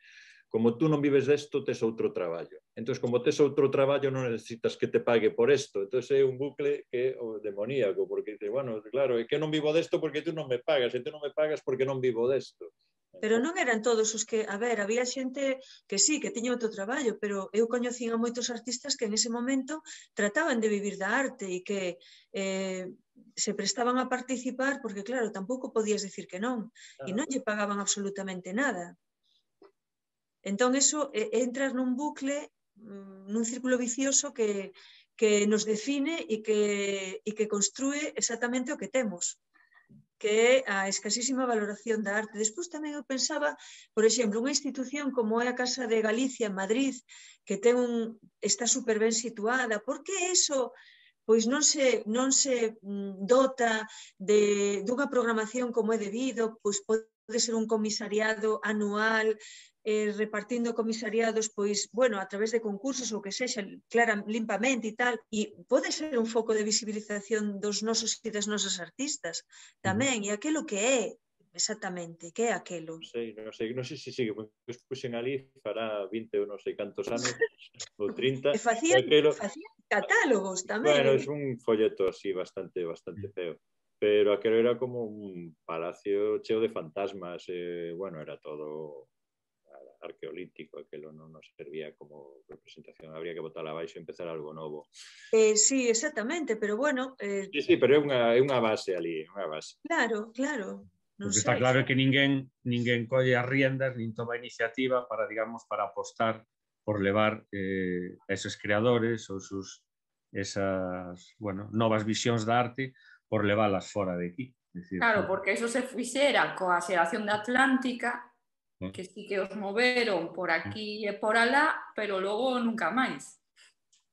como tú non vives desto, tes outro traballo. Entón, como tes outro traballo, non necesitas que te pague por isto. Entón, é un bucle que é demoníaco, porque, bueno, claro, é que non vivo desto porque tú non me pagas, e tú non me pagas porque non vivo desto. Pero non eran todos os que, a ver, había xente que sí, que tiña outro traballo, pero eu coñecín a moitos artistas que en ese momento trataban de vivir da arte e que eh, se prestaban a participar porque, claro, tampouco podías decir que non, e non lle pagaban absolutamente nada. Entón, eso é entrar nun bucle, nun círculo vicioso que, que nos define e que, e que construe exactamente o que temos, que é a escasísima valoración da arte. Despois tamén eu pensaba, por exemplo, unha institución como é a Casa de Galicia en Madrid, que ten un, está super ben situada, por que eso pois non se, non se dota de, dunha programación como é debido, pois pode ser un comisariado anual, eh, repartindo comisariados, pois, bueno, a través de concursos ou que sexa, clara, limpamente e tal, e pode ser un foco de visibilización dos nosos e das nosas artistas tamén, uh-huh. E aquilo que é, exactamente, que é aquilo. Non sei, non sei, non sei se sigue, pois puxen ali, fará vinte ou non sei cantos anos, ou trinta. E facían, aquelo... facían catálogos tamén. Bueno, é un folleto así bastante, bastante feo. Pero aquelo era como un palacio cheo de fantasmas, eh, bueno, era todo arqueolítico, aquelo non nos servía como representación, habría que botar abaixo e empezar algo novo. Eh, sí, exactamente, pero bueno... Eh... Sí, sí, pero é unha, é unha base ali, unha base. Claro, claro. Non sei. Está claro que ninguén, ninguén colle as riendas, nin toma iniciativa para, digamos, para apostar por levar eh, esos creadores ou sus esas, bueno, novas visións da arte por leválas fora de aquí. Decir, claro, porque eso se fixera coa xeración da Atlántica, que sí que os moveron por aquí e por alá, pero logo nunca máis.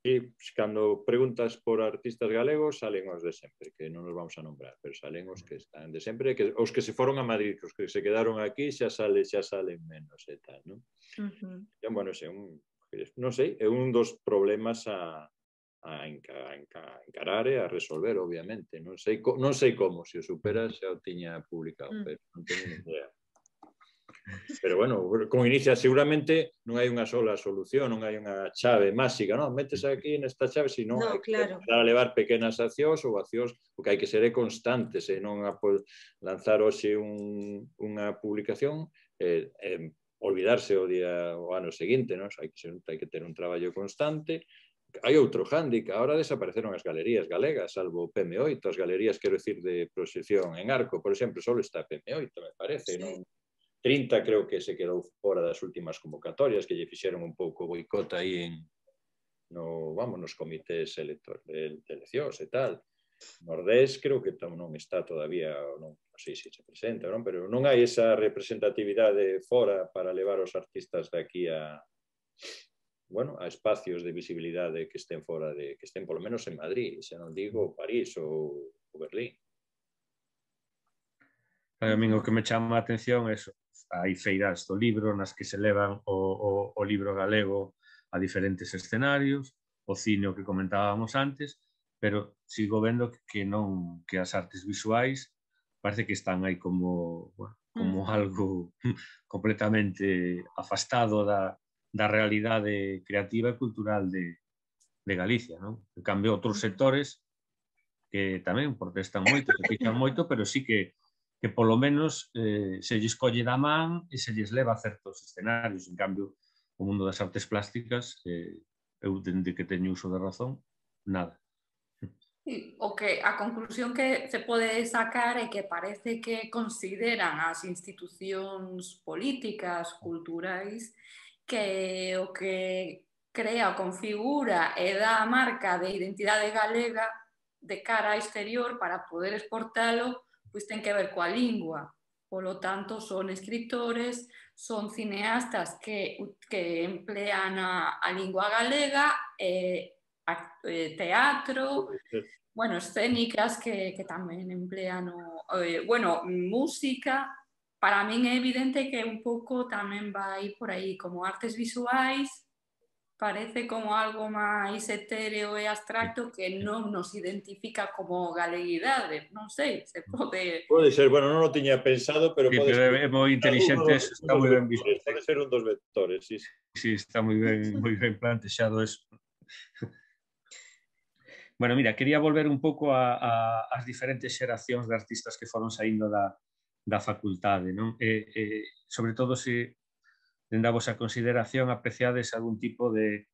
E cando preguntas por artistas galegos, salen os de sempre, que non nos vamos a nombrar, pero salen os que están de sempre, que os que se foron a Madrid, os que se quedaron aquí, xa sale, xa salen menos e tal, non? Uh-huh. E, bueno, é un, non sei, é un dos problemas a, a, enca, a encarar e a resolver, obviamente. Non sei, non sei como, se o superas xa o tiña publicado, uh-huh. Pero non teño ni idea. Pero, bueno, como inicia, seguramente non hai unha sola solución, non hai unha chave máxica, non? Metes aquí nesta chave, senón no, hai que claro. empezar a levar pequenas accións ou accións, o que hai que ser é constante, se non a lanzar hoxe un, unha publicación, eh, eh, olvidarse o día o ano seguinte, non? Hai que, ser, hai que ter un traballo constante. Hai outro hándicap, ahora desapareceron as galerías galegas, salvo P M oito, as galerías, quero decir, de proxección en Arco, por exemplo, só está P M oito, me parece, sí. Non? trinta creo que se quedou fora das últimas convocatorias, que lle fixeron un pouco boicot aí en, no, vamos, nos comités electores de, de eleccións e tal. Nordés creo que non está todavía, non, non sei se se presenta, non? Pero non hai esa representatividade fora para levar os artistas de aquí a, bueno, a espacios de visibilidade que estén fora de, que estén polo menos en Madrid, se non digo París ou, ou Berlín. A mí o que me chama a atención é eso. Hai feiras do libro nas que se levan o, o, o libro galego a diferentes escenarios, o cine o que comentábamos antes, pero sigo vendo que non, que as artes visuais parece que están aí como, bueno, como mm. algo completamente afastado da, da realidade creativa e cultural de, de Galicia, non? En cambio, outros sectores que tamén protestan moito, que queixan moito, pero sí que que polo menos eh, se lles colle da man e se lles leva a certos escenarios. En cambio, o mundo das artes plásticas, eh, eu dende que teño uso de razón, nada. Sí, o que a conclusión que se pode sacar é que parece que consideran as institucións políticas, culturais, que o que crea o configura e dá a marca de identidade galega de cara ao exterior para poder exportalo, pois ten que ver coa lingua. Polo tanto, son escritores, son cineastas que, que emplean a, a lingua galega, e eh, teatro, bueno, escénicas que, que tamén emplean o, eh, bueno, música. Para min é evidente que un pouco tamén vai por aí, como artes visuais, parece como algo máis etéreo e abstracto que non nos identifica como galeguidade. Non sei, se pode... Pode ser, bueno, non o tiña pensado, pero Sí, pode pero ser. é moi inteligente, Dos, está moi ben visto. Pode ser un dos vectores, sí. Sí, está moi ben, moi ben plantexado eso. Bueno, mira, quería volver un pouco a, a, as diferentes xeracións de artistas que foron saindo da, da facultade, non? E, e, sobre todo, se dende a vosa consideración apreciades algún tipo de,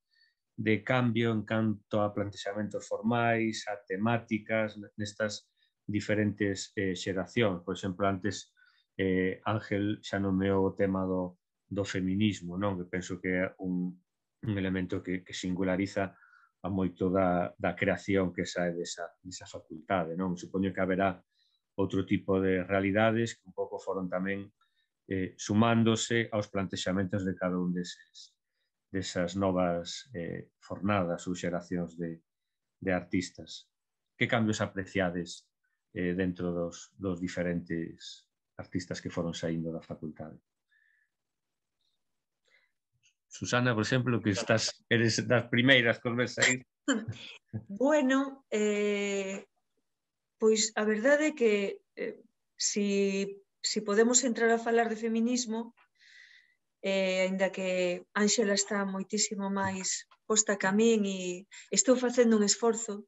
de cambio en canto a plantexamentos formais, a temáticas, nestas diferentes eh, xeracións. Por exemplo, antes eh, Ángel xa nomeou o tema do, do feminismo, non? Que penso que é un, un elemento que, que singulariza a moito da, da creación que sae desa, desa facultade, non? Supoño que haberá outro tipo de realidades que un pouco foron tamén eh, sumándose aos plantexamentos de cada un deses, desas novas eh, fornadas ou xeracións de, de artistas. Que cambios apreciades eh, dentro dos, dos diferentes artistas que foron saindo da facultade? Susana, por exemplo, que estás, eres das primeiras que os ves sair. Bueno, eh, pois a verdade é que eh, si, si podemos entrar a falar de feminismo, eh, ainda que Ángela está moitísimo máis posta que a min e estou facendo un esforzo,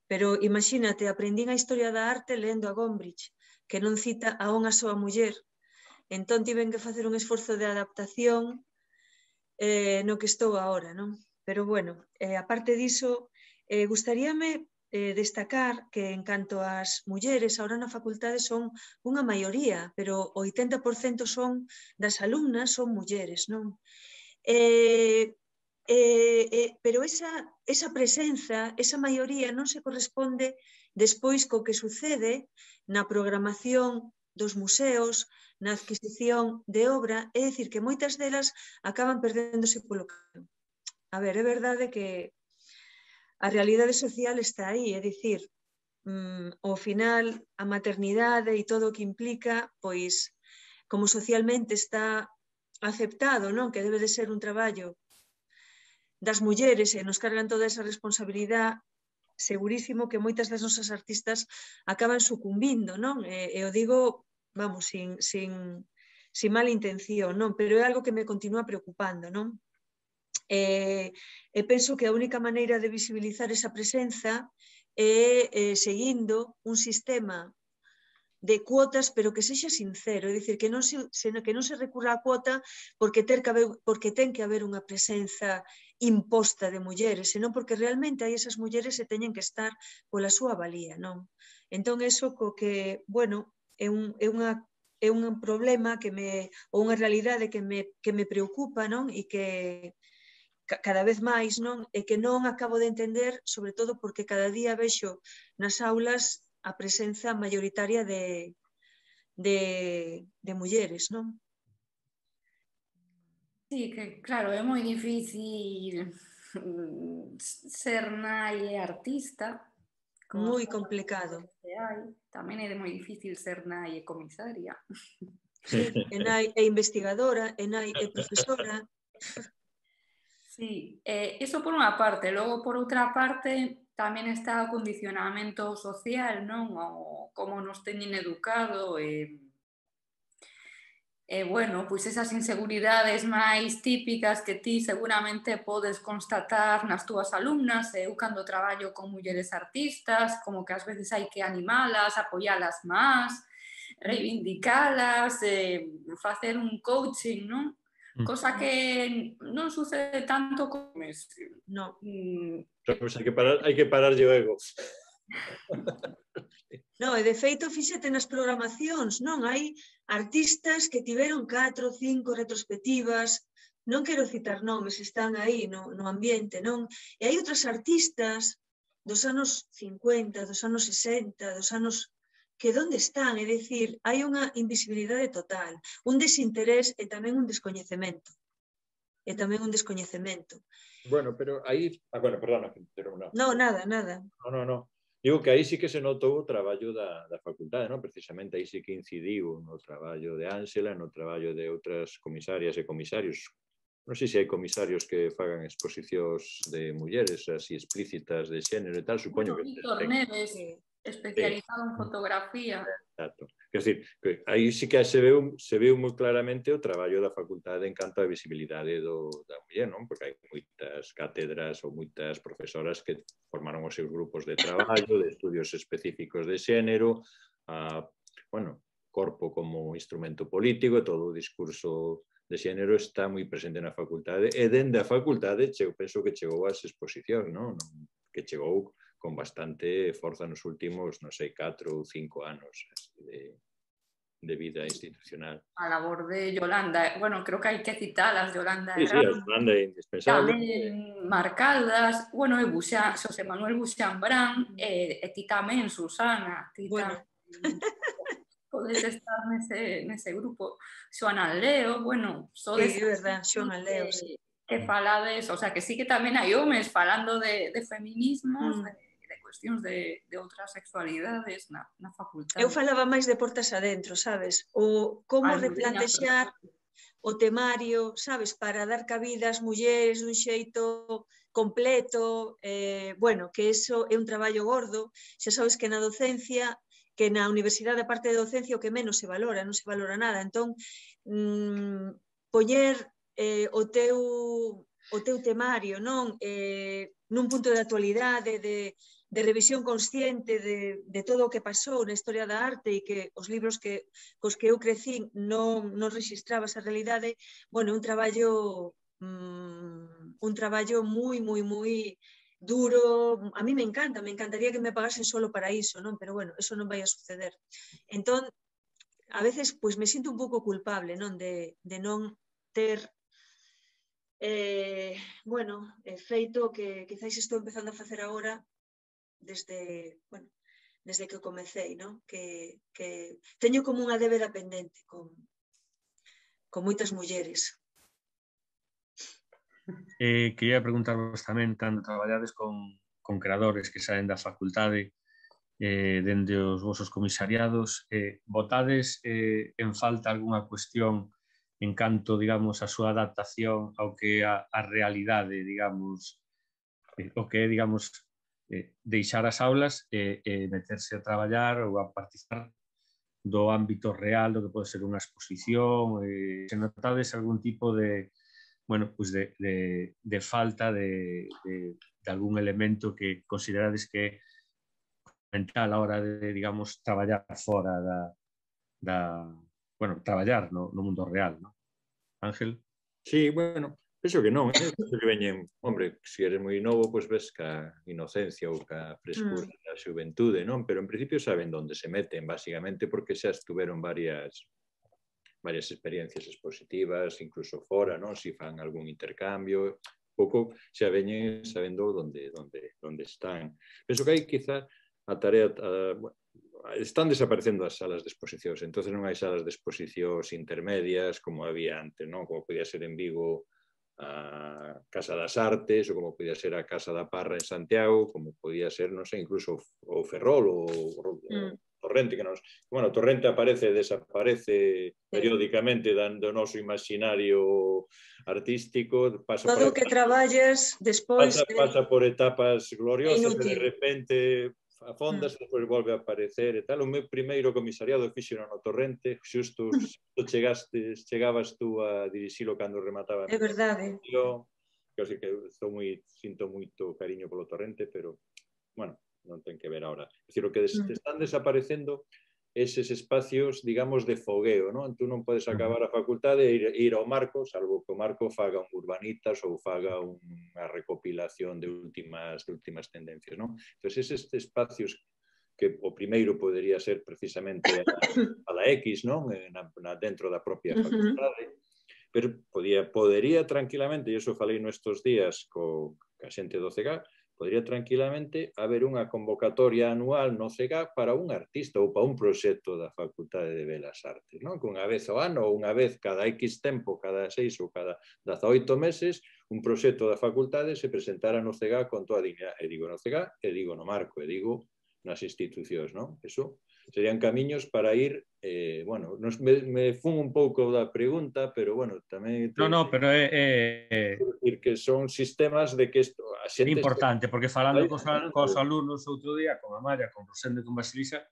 pero imagínate, aprendín a historia da arte lendo a Gombrich, que non cita a unha soa muller, entón tiven que facer un esforzo de adaptación eh, no que estou agora, non? Pero bueno, eh, aparte diso, eh, gustaríame eh, destacar que en canto ás mulleres, ahora na facultade son unha maioría, pero o oitenta por cento son das alumnas son mulleres, non? Eh, eh, eh, pero esa, esa presenza, esa maioría non se corresponde despois co que sucede na programación dos museos, na adquisición de obra, é dicir, que moitas delas acaban perdéndose polo camino. A ver, é verdade que a realidade social está aí, é dicir, mmm, ao final a maternidade e todo o que implica, pois, como socialmente está aceptado, non? Que debe de ser un traballo das mulleres e nos cargan toda esa responsabilidade, segurísimo que moitas das nosas artistas acaban sucumbindo, non? E, e o digo, vamos, sin, sin, sin mala intención, non? Pero é algo que me continúa preocupando, non? E, e penso que a única maneira de visibilizar esa presenza é eh, seguindo un sistema de cuotas, pero que sexa sincero, é dicir, que non se, que non se recurra a cuota porque, ter que haber, porque ten que haber unha presenza imposta de mulleres, senón porque realmente hai esas mulleres que teñen que estar pola súa valía, non? Entón, eso co que, bueno, é un, é unha, é un problema que me, ou unha realidade que me, que me preocupa, non? E que cada vez máis, non? E que non acabo de entender, sobre todo porque cada día vexo nas aulas a presenza mayoritaria de, de, de mulleres, non? Sí, que claro, é moi difícil ser nai e artista. Moi complicado. Tamén é moi difícil ser nai e comisaria. Sí, e nai é investigadora, e nai é profesora. Sí, eh, iso por unha parte. Logo, por outra parte, tamén está o condicionamento social, non? O como nos teñen educado e, e bueno, pois esas inseguridades máis típicas que ti seguramente podes constatar nas túas alumnas. Eu cando traballo con mulleres artistas, como que ás veces hai que animalas, apoialas máis, reivindicalas, eh, facer un coaching, non? Cosa que non sucede tanto como... No. Mm. Pues hai que parar, hai que parar o ego. Non, e de feito, fíxate nas programacións, non? Hai artistas que tiveron catro, cinco retrospectivas, non quero citar nomes, están aí no, no ambiente, non? E hai outras artistas dos anos cincuenta, dos anos sesenta, dos anos que onde están, é dicir, hai unha invisibilidade total, un desinterés e tamén un descoñecemento. E tamén un descoñecemento. Bueno, pero aí... Ah, bueno, perdona, pero non. Non, nada, nada. Non, non, non. Digo que aí sí que se notou o traballo da, da facultade, non? Precisamente aí sí que incidiu no traballo de Ángela, no traballo de outras comisarias e comisarios. Non sei se hai comisarios que fagan exposicións de mulleres así explícitas de xénero e tal, supoño Bueno, que... Víctor Neves, especializado en fotografía. Exacto. Quer dizer, que aí sí que se veu, se veu moi claramente o traballo da facultade en canto á visibilidade do, da muller, non? Porque hai moitas cátedras ou moitas profesoras que formaron os seus grupos de traballo, de estudios específicos de xénero, a, bueno, corpo como instrumento político, todo o discurso de xénero está moi presente na facultade e dende a facultade eu penso que chegou ás exposicións, non? Que chegou con bastante forza nos últimos, non sei, catro ou cinco anos de, de vida institucional. A labor de Yolanda, bueno, creo que hai que citalas, Yolanda Sí, sí, a Yolanda é indispensable. Tamén Marcaldas, bueno, e Buxán, Xosé Manuel Buxán Brán, e, e ti tamén, Susana, ti Bueno. tamén podes estar nese, nese grupo. Xoana Leo, bueno, sodes Sí, é verdad, Xoana Leo, sí. que falades, o sea, que sí que tamén hai homes falando de, de feminismos, Mm. de, de cuestións de, de outras sexualidades na, na facultade. Eu falaba máis de portas adentro, sabes? O como replantexar o temario, sabes, para dar cabida ás mulleres dun xeito completo, eh, bueno, que eso é un traballo gordo, xa sabes que na docencia, que na universidade, a parte de docencia, o que menos se valora, non se valora nada, entón, mmm, poñer eh, o teu o teu temario, non? Eh, nun punto de actualidade, de, de revisión consciente de, de todo o que pasou na historia da arte e que os libros que cos que eu crecín non, non registraba esa realidade, bueno, un traballo mmm, un traballo moi, moi, moi duro. A mí me encanta, me encantaría que me pagasen solo para iso, non? Pero bueno, eso non vai a suceder. Entón, a veces, pois, me sinto un pouco culpable, non? De, de non ter Eh, bueno, eh, feito que quizáis estou empezando a facer agora desde, bueno, desde que comecei, ¿no? Que, que teño como unha débeda pendente con, con moitas mulleres. Eh, quería preguntarvos tamén, cando traballades con, con creadores que saen da facultade, eh, dende os vosos comisariados, eh, votades eh, en falta algunha cuestión en canto, digamos, a súa adaptación ao que a, a realidade, digamos, eh, o que é, digamos, eh, deixar as aulas e eh, eh, meterse a traballar ou a participar do ámbito real, do que pode ser unha exposición, eh, se notades algún tipo de, bueno, pues de, de, de falta de, de, de algún elemento que considerades que é fundamental a hora de, digamos, traballar fora da, da bueno, traballar no, no mundo real, ¿no? Ángel? Sí, bueno, penso que non, eh? Penso que veñen, hombre, se eres moi novo, pois ves ca inocencia ou ca frescura mm. da xuventude, non? Pero en principio saben onde se meten, basicamente, porque xa estuveron varias varias experiencias expositivas, incluso fora, non? Si fan algún intercambio, pouco xa veñen sabendo onde, onde, onde están. Penso que hai quizá a tarea... A, bueno, están desaparecendo as salas de exposicións, entonces non hai salas de exposicións intermedias como había antes, non? Como podía ser en Vigo a Casa das Artes, ou como podía ser a Casa da Parra en Santiago, como podía ser, non sei, incluso o Ferrol ou mm. Torrente, que nos... Bueno, Torrente aparece e desaparece periódicamente dando o noso imaginario artístico. Pasa todo o que traballes despois... Pasa, de... pasa por etapas gloriosas e de repente... a fondas, mm. depois volve a aparecer e tal. O meu primeiro comisariado fixeron no Torrente, xusto, xusto chegastes, chegabas tú a dirixilo cando remataba. É verdade. Eu, eu sei que estou moi, sinto moito cariño polo Torrente, pero, bueno, non ten que ver ahora. É dicir, o que des, mm. están desaparecendo eses espacios, digamos, de fogueo, non? Tú non podes acabar a facultade e ir, ir ao Marco, salvo que o Marco faga un Urbanitas ou faga unha recopilación de últimas, de últimas tendencias, non? Entón, eses espacios que o primeiro podería ser precisamente a, a la X, non? Na, na, dentro da propia facultade, pero podía, podería tranquilamente, e iso falei nestes días co a xente do C E G A, podría tranquilamente haber unha convocatoria anual no C E G A para un artista ou para un proxecto da Facultade de Belas Artes, non? Que unha vez ao ano ou unha vez cada X tempo, cada seis ou cada dezaoito meses, un proxecto da facultade se presentara no C E G A con toda a dignidade. E digo no C E G A, e digo no Marco, e digo nas institucións, non? Eso serían camiños para ir, eh, bueno, nos, me, me fun un pouco da pregunta, pero, bueno, tamén... No, no, pero é... é... decir que son sistemas de que isto, a xente... importante, porque falando cos, cos alumnos outro día, con Amaya, con Rosendo e con Basilisa,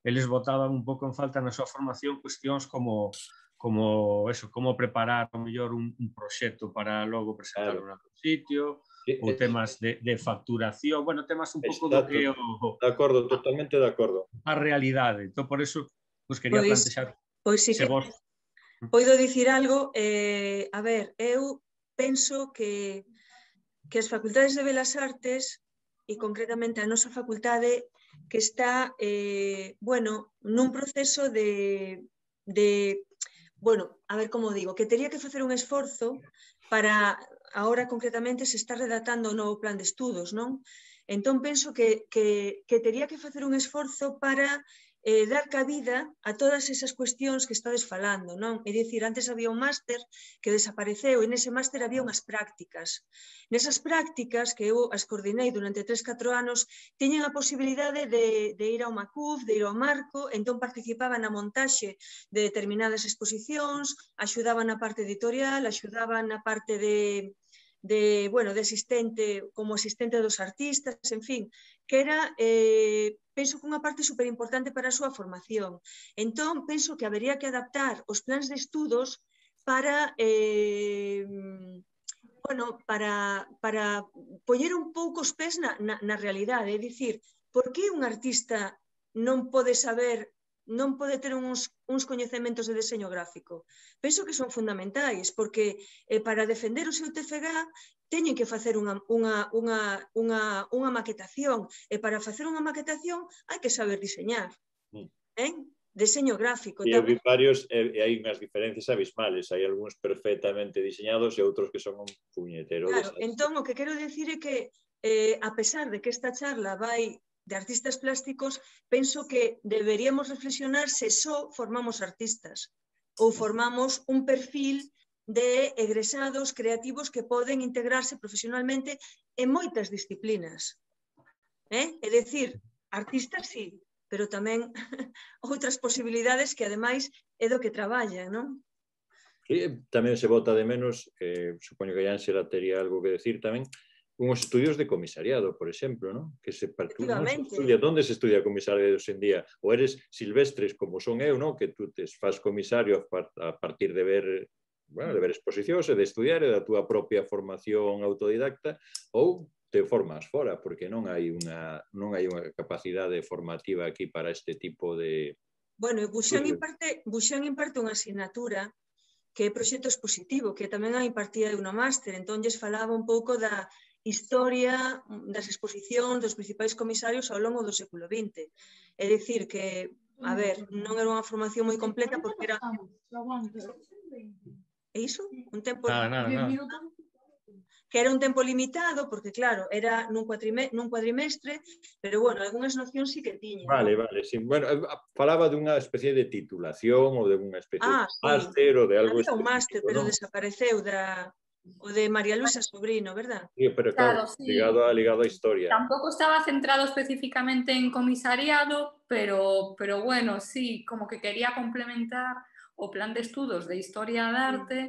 eles botaban un pouco en falta na súa formación cuestións como como eso, como preparar o mellor un, un proxecto para logo presentarlo claro. En sitio, sí, ou temas de, de facturación, bueno, temas un pouco do que o... De acordo, totalmente de acordo. A realidade, entón por eso pues, quería pois, plantexar pois sí se que vos... poido dicir algo, eh, a ver, eu penso que, que as facultades de Belas Artes e concretamente a nosa facultade que está, eh, bueno, nun proceso de, de bueno, a ver como digo, que tería que facer un esforzo para, ahora concretamente se está redactando o novo plan de estudos, non? Entón penso que, que, que tería que facer un esforzo para eh, dar cabida a todas esas cuestións que estades falando, non? É dicir, antes había un máster que desapareceu e nese máster había unhas prácticas. Nesas prácticas, que eu as coordinei durante tres, catro anos, tiñen a posibilidade de, de ir ao Macuf, de ir ao Marco, entón participaban na montaxe de determinadas exposicións, axudaban na parte editorial, axudaban na parte de... de, bueno, de asistente, como asistente dos artistas, en fin, que era, eh, penso que unha parte superimportante para a súa formación. Entón, penso que habería que adaptar os plans de estudos para, eh, bueno, para, para poñer un pouco os pés na, na, na realidade, é dicir, por que un artista non pode saber non pode ter uns, uns coñecementos de deseño gráfico. Penso que son fundamentais, porque eh, para defender o seu T F G A teñen que facer unha, unha, unha, unha, unha maquetación, e para facer unha maquetación hai que saber diseñar. Eh? Deseño gráfico. E hai varios, e hai unhas diferencias abismales, hai algúns perfectamente diseñados e outros que son un puñetero. Claro, entón o que quero dicir é que, eh, a pesar de que esta charla vai de artistas plásticos, penso que deberíamos reflexionar se só formamos artistas ou formamos un perfil de egresados creativos que poden integrarse profesionalmente en moitas disciplinas. Eh? É dicir, artistas sí, pero tamén outras posibilidades que ademais é do que traballan, non? Sí, tamén se bota de menos, eh, supoño que a Ángela tería algo que decir tamén, unhos estudios de comisariado, por exemplo, ¿no? Que se partúan, ¿no? Se estudia, ¿dónde se estudia comisariado hoxe en día? Ou eres silvestres como son eu, ¿no? Que tú te faz comisario a partir de ver, bueno, de ver exposicións e de estudiar e da túa propia formación autodidacta, ou te formas fora, porque non hai unha non hai unha capacidade formativa aquí para este tipo de... Bueno, Buxán imparte, Buxán imparte unha asignatura que é proxecto expositivo, que tamén a impartía unha máster, entón lles falaba un pouco da historia das exposicións dos principais comisarios ao longo do século vinte. É dicir que, a ver, non era unha formación moi completa porque era... É iso? Un tempo... Nada, nada, nada. Que era un tempo limitado, porque claro, era nun, nun cuadrimestre, pero bueno, algunhas nocións sí que tiña. Vale, ¿no? Vale, sí. Bueno, falaba dunha especie de titulación ou de unha especie ah, de sí. máster ou de algo... Había un máster, pero ¿no? Desapareceu da... O de María Luisa Sobrino, ¿verdad? Sí, pero claro, claro sí. ligado, a, ligado a historia. Tampoco estaba centrado específicamente en comisariado, pero, pero bueno, sí, como que quería complementar o plan de estudos de historia de arte,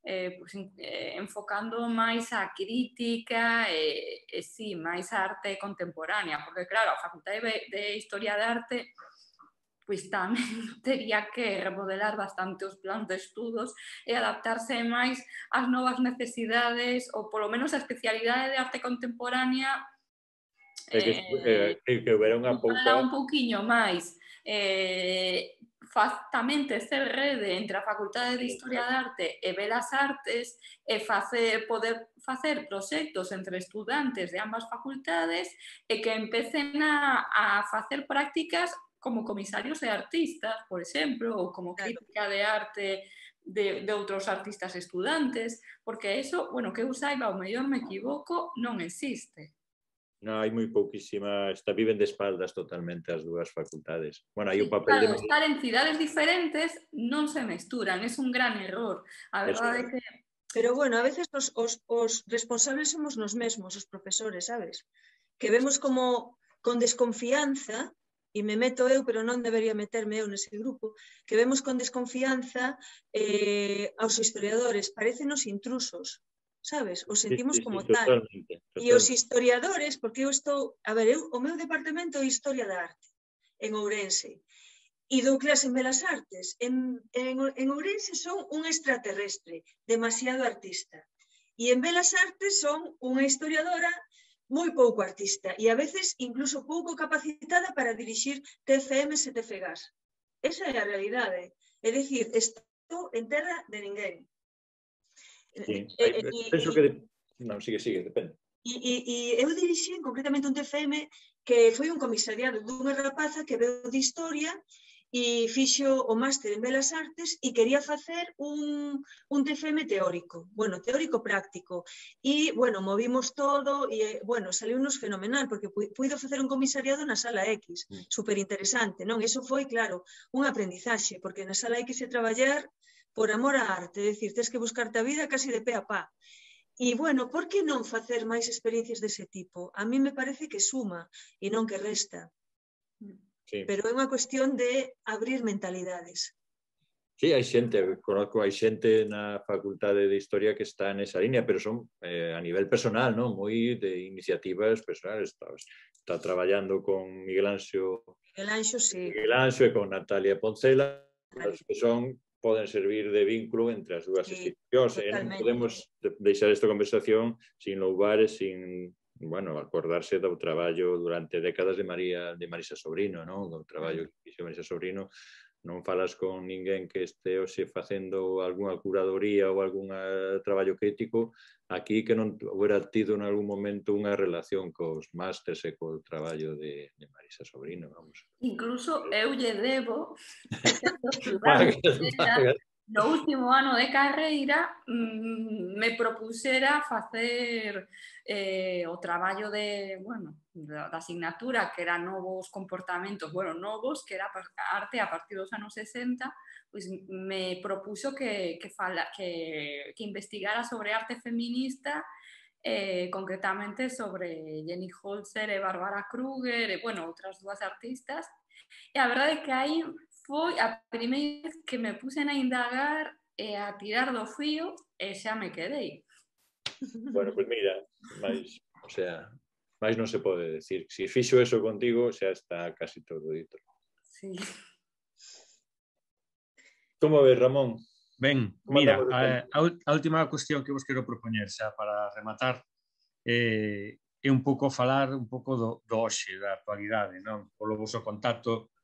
eh, pues, eh, enfocando máis a crítica e, e sí, máis a arte contemporánea, porque claro, a Facultade de, de Historia de Arte pois tamén tería que remodelar bastante os plans de estudos e adaptarse máis ás novas necesidades ou polo menos a especialidade de arte contemporánea eh, que, eh, que, que hubiera unha pouca... un pouquiño máis. eh, faz, tamén tecer rede entre a Facultade de Historia de Arte e Belas Artes e facer, poder facer proxectos entre estudantes de ambas facultades e que empecen a, a facer prácticas como comisarios de artistas, por exemplo, ou como crítica de arte de, de outros artistas estudantes, porque eso, bueno, que eu saiba, o mellor me equivoco, non existe. No, hai moi pouquísima, está, viven de espaldas totalmente as dúas facultades. Bueno, hai Sí, o papel claro, de... estar en cidades diferentes non se mesturan, é un gran error. A verdade é que... Pero bueno, a veces os, os, os responsables somos nos mesmos, os profesores, sabes? Que vemos como con desconfianza, e me meto eu, pero non debería meterme eu nese grupo, que vemos con desconfianza eh, aos historiadores, parécenos intrusos, sabes? Os sentimos sí, sí, como sí, tal. totalmente, totalmente. E os historiadores, porque eu estou... A ver, eu, o meu departamento é Historia da Arte, en Ourense. E dou clase en Belas Artes. En, en, en Ourense son un extraterrestre, demasiado artista. E en Belas Artes son unha historiadora moi pouco artista e a veces incluso pouco capacitada para dirixir T F Ms e T F Gas. Esa é a realidade. É dicir, estou en terra de ninguén. Sí. E, Hai, e, penso que... De... Non, sigue, sigue, depende. E, e, e eu dirixín concretamente un T F M que foi un comisariado dunha rapaza que veu de historia e fixo o máster en Belas Artes e quería facer un, un T F M teórico, bueno, teórico práctico. E, bueno, movimos todo e, bueno, saliu-nos fenomenal porque puido facer un comisariado na Sala X, super interesante, non? Eso foi, claro, un aprendizaxe, porque na Sala X é traballar por amor á arte, é dicir, tens que buscarte a vida casi de pé a pá. E, bueno, por que non facer máis experiencias dese tipo? A mí me parece que suma e non que resta. Sí. Pero é unha cuestión de abrir mentalidades. Sí, hai xente, conozco, hai xente na Facultade de Historia que está nesa línea, pero son eh, a nivel personal, non? Moi de iniciativas personales. Está, está traballando con Miguel Anxo, Miguel Anxo, sí. Miguel Anxo e con Natalia Poncela, claro. Que son poden servir de vínculo entre as dúas sí, institucións. E non podemos deixar esta conversación sin louvar e sin, bueno, acordarse do traballo durante décadas de María de Marisa Sobrino, non? Do traballo que fixo Marisa Sobrino. Non falas con ninguén que este hoxe facendo algunha curadoría ou algún traballo crítico aquí que non hubiera tido en algún momento unha relación cos másters e co traballo de, de Marisa Sobrino, vamos. Incluso eu lle debo no último ano de carreira mmm, me propusera facer eh, o traballo de, bueno, da, da asignatura que era novos comportamentos, bueno, novos, que era arte a partir dos anos sesenta, pois me propuso que, que, fala, que, que investigara sobre arte feminista, eh, concretamente sobre Jenny Holzer e Bárbara Kruger, e, bueno, outras dúas artistas. E a verdade é que aí foi a primeira vez que me pusen a indagar e a tirar do fío e xa me quedei. Bueno, pois pues mira, máis, o sea, máis non se pode decir. Se fixo eso contigo, xa está casi todo dito. Sí. Como ves, Ramón? Ben, mira, a, a última cuestión que vos quero propoñer xa para rematar eh, é un pouco falar un pouco do, do hoxe, da actualidade, non? Polo vosso contacto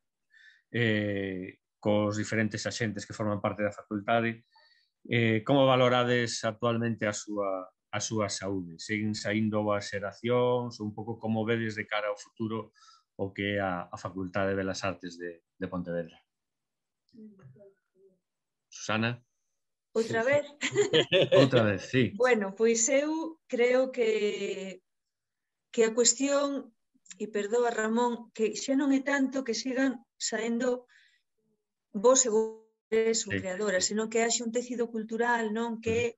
eh, cos diferentes axentes que forman parte da facultade. Eh, como valorades actualmente a súa, a súa saúde? Seguen saindo as xeracións? Un pouco como vedes de cara ao futuro o que é a, a Facultade de Belas Artes de, de Pontevedra? Susana? Outra vez? Outra vez, sí. Bueno, pois eu creo que que a cuestión, e perdoa Ramón, que xa non é tanto que sigan saendo vos e vos ou creadoras, senón que haxe un tecido cultural, non? Que,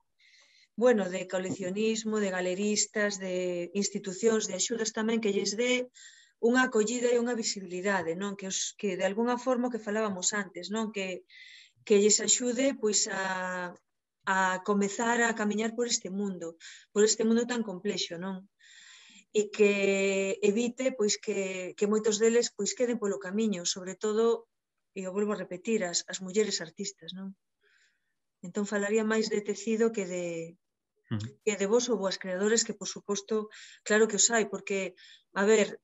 bueno, de coleccionismo, de galeristas, de institucións, de axudas tamén que lles dé unha acollida e unha visibilidade, non? Que, os, que de alguna forma que falábamos antes, non? Que, que lles axude pois a, a comezar a camiñar por este mundo, por este mundo tan complexo, non? E que evite pois que, que moitos deles pois queden polo camiño, sobre todo, e eu volvo a repetir, as, as mulleres artistas, non? Entón falaría máis de tecido que de que de vos ou boas creadores, que por suposto, claro que os hai, porque, a ver,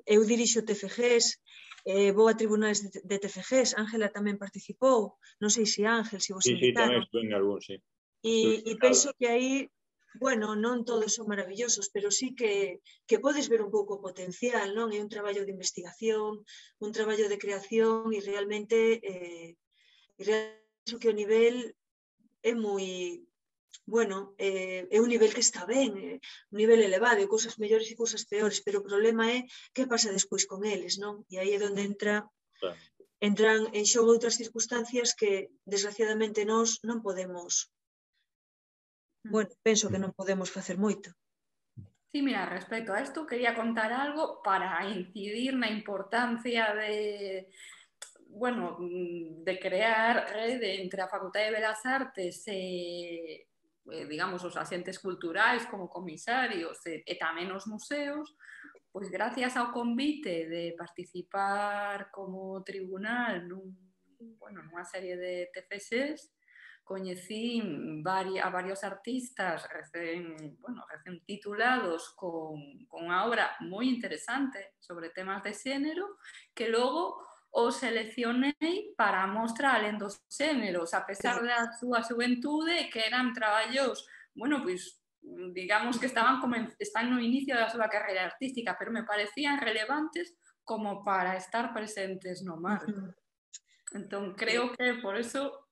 eu dirixo T F Gs eh, vou a tribunais de, de T F Gs, Ángela tamén participou, non sei se Ángel, se vos Sí, sí, tamén invitaron. estuve en algún, sí. E, e penso que aí, bueno, non todos son maravillosos, pero sí que, que podes ver un pouco o potencial, non? É un traballo de investigación, un traballo de creación e realmente eh, e realmente que o nivel é moi, bueno, eh, é un nivel que está ben, eh, un nivel elevado, e cousas mellores e cousas peores, pero o problema é que pasa despois con eles, non? E aí é onde entra, Claro. entran en xogo outras circunstancias que, desgraciadamente, nós non podemos. Bueno, penso que non podemos facer moito. Sí, mira, respecto a esto quería contar algo para incidir na importancia de, bueno, de crear rede entre a Facultade de Belas Artes e, eh, digamos, os asentes culturais como comisarios e, e tamén os museos, pois gracias ao convite de participar como tribunal nun, bueno, nunha serie de T F Gs, coñecí a varios artistas recén, bueno, recén titulados con, con unha obra moi interesante sobre temas de xénero que logo o seleccionei para a mostra alén dos xéneros, a pesar da súa xuventude, que eran traballos, bueno, pois, digamos que estaban como en, están no inicio da súa carreira artística, pero me parecían relevantes como para estar presentes no marco. Entón, creo que por eso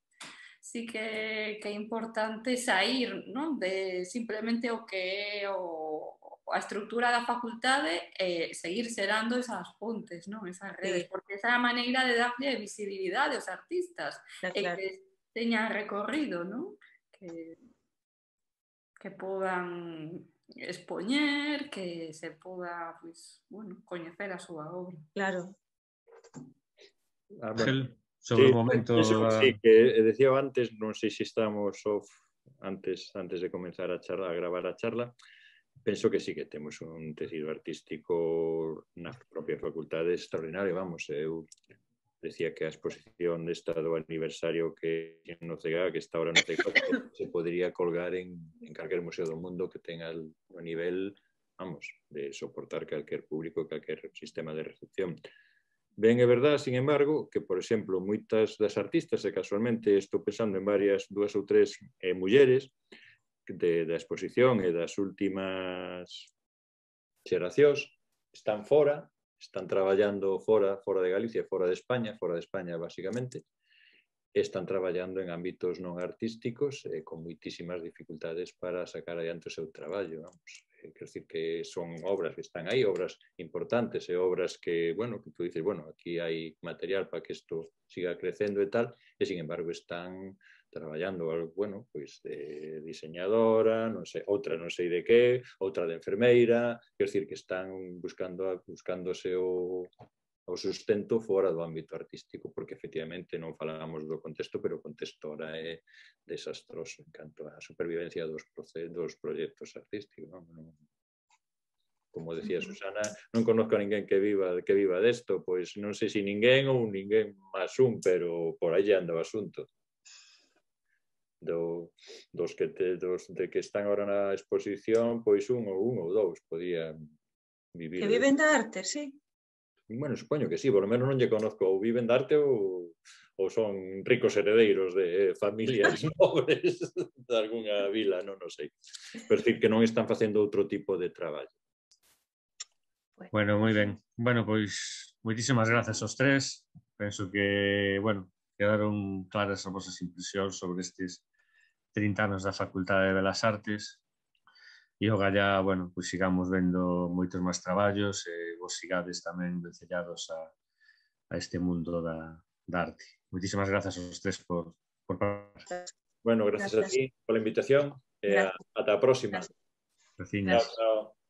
sí que, que é importante sair, non? De simplemente o que é o, a estructura da facultade e seguir xerando esas pontes, non? Esas redes, sí. Porque esa é a maneira de darlle visibilidade aos artistas, claro, e que teñan recorrido, non? Que, que podan expoñer, que se poda, pues, bueno, coñecer a súa obra. Claro. Ah, bueno. Sobre sí, o momento eso, da... sí, que decía antes, non sei se estamos off antes, antes de comenzar a charla, a gravar a charla, penso que sí que temos un tecido artístico na propia facultade extraordinario, vamos, eu decía que a exposición desta do aniversario que no C G A, que está ahora no C G A, se podría colgar en, en calquer museo do mundo que tenga o nivel, vamos, de soportar calquer público, calquer sistema de recepción. Ben, é verdade, sin embargo, que, por exemplo, moitas das artistas, e casualmente estou pensando en varias, dúas ou tres eh, mulleres de, da exposición e das últimas xeracións, están fora, están traballando fora, fora de Galicia, fora de España, fora de España, basicamente, están traballando en ámbitos non artísticos e con moitísimas dificultades para sacar adiante o seu traballo, vamos. Quer decir que son obras que están aí, obras importantes e obras que, bueno, que tú dices, bueno, aquí hai material para que isto siga crecendo e tal, e sin embargo están traballando, bueno, pois de diseñadora, non sei, outra non sei de que, outra de enfermeira, quer decir que están buscando, buscándose o, o sustento fora do ámbito artístico, porque efectivamente non falamos do contexto, pero o contexto ahora é desastroso en canto á supervivencia dos, dos proxectos artísticos. Non? Como decía Susana, non conozco a ninguén que viva, que viva desto, pois non sei se ninguén ou ninguén máis un, pero por aí anda o asunto. Do, dos, que te, dos de que están agora na exposición, pois un ou un ou dous podían vivir. Que viven da arte, sí. Bueno, supoño que sí, por lo menos non lle conozco, ou viven de arte ou, ou son ricos heredeiros de familias nobres de algunha vila, non o sei. Pero decir que non están facendo outro tipo de traballo. Bueno, moi ben. Bueno, pois, moitísimas grazas aos tres. Penso que, bueno, quedaron claras as vosas impresións sobre estes trinta anos da Facultade de Belas Artes. E o galla, bueno, pois sigamos vendo moitos máis traballos e vos sigades tamén vencellados a, a este mundo da, da arte. Moitísimas grazas aos tres por, por participar. Bueno, gracias, gracias a ti pola invitación e a, ata a próxima. Gracias. Chao, chao.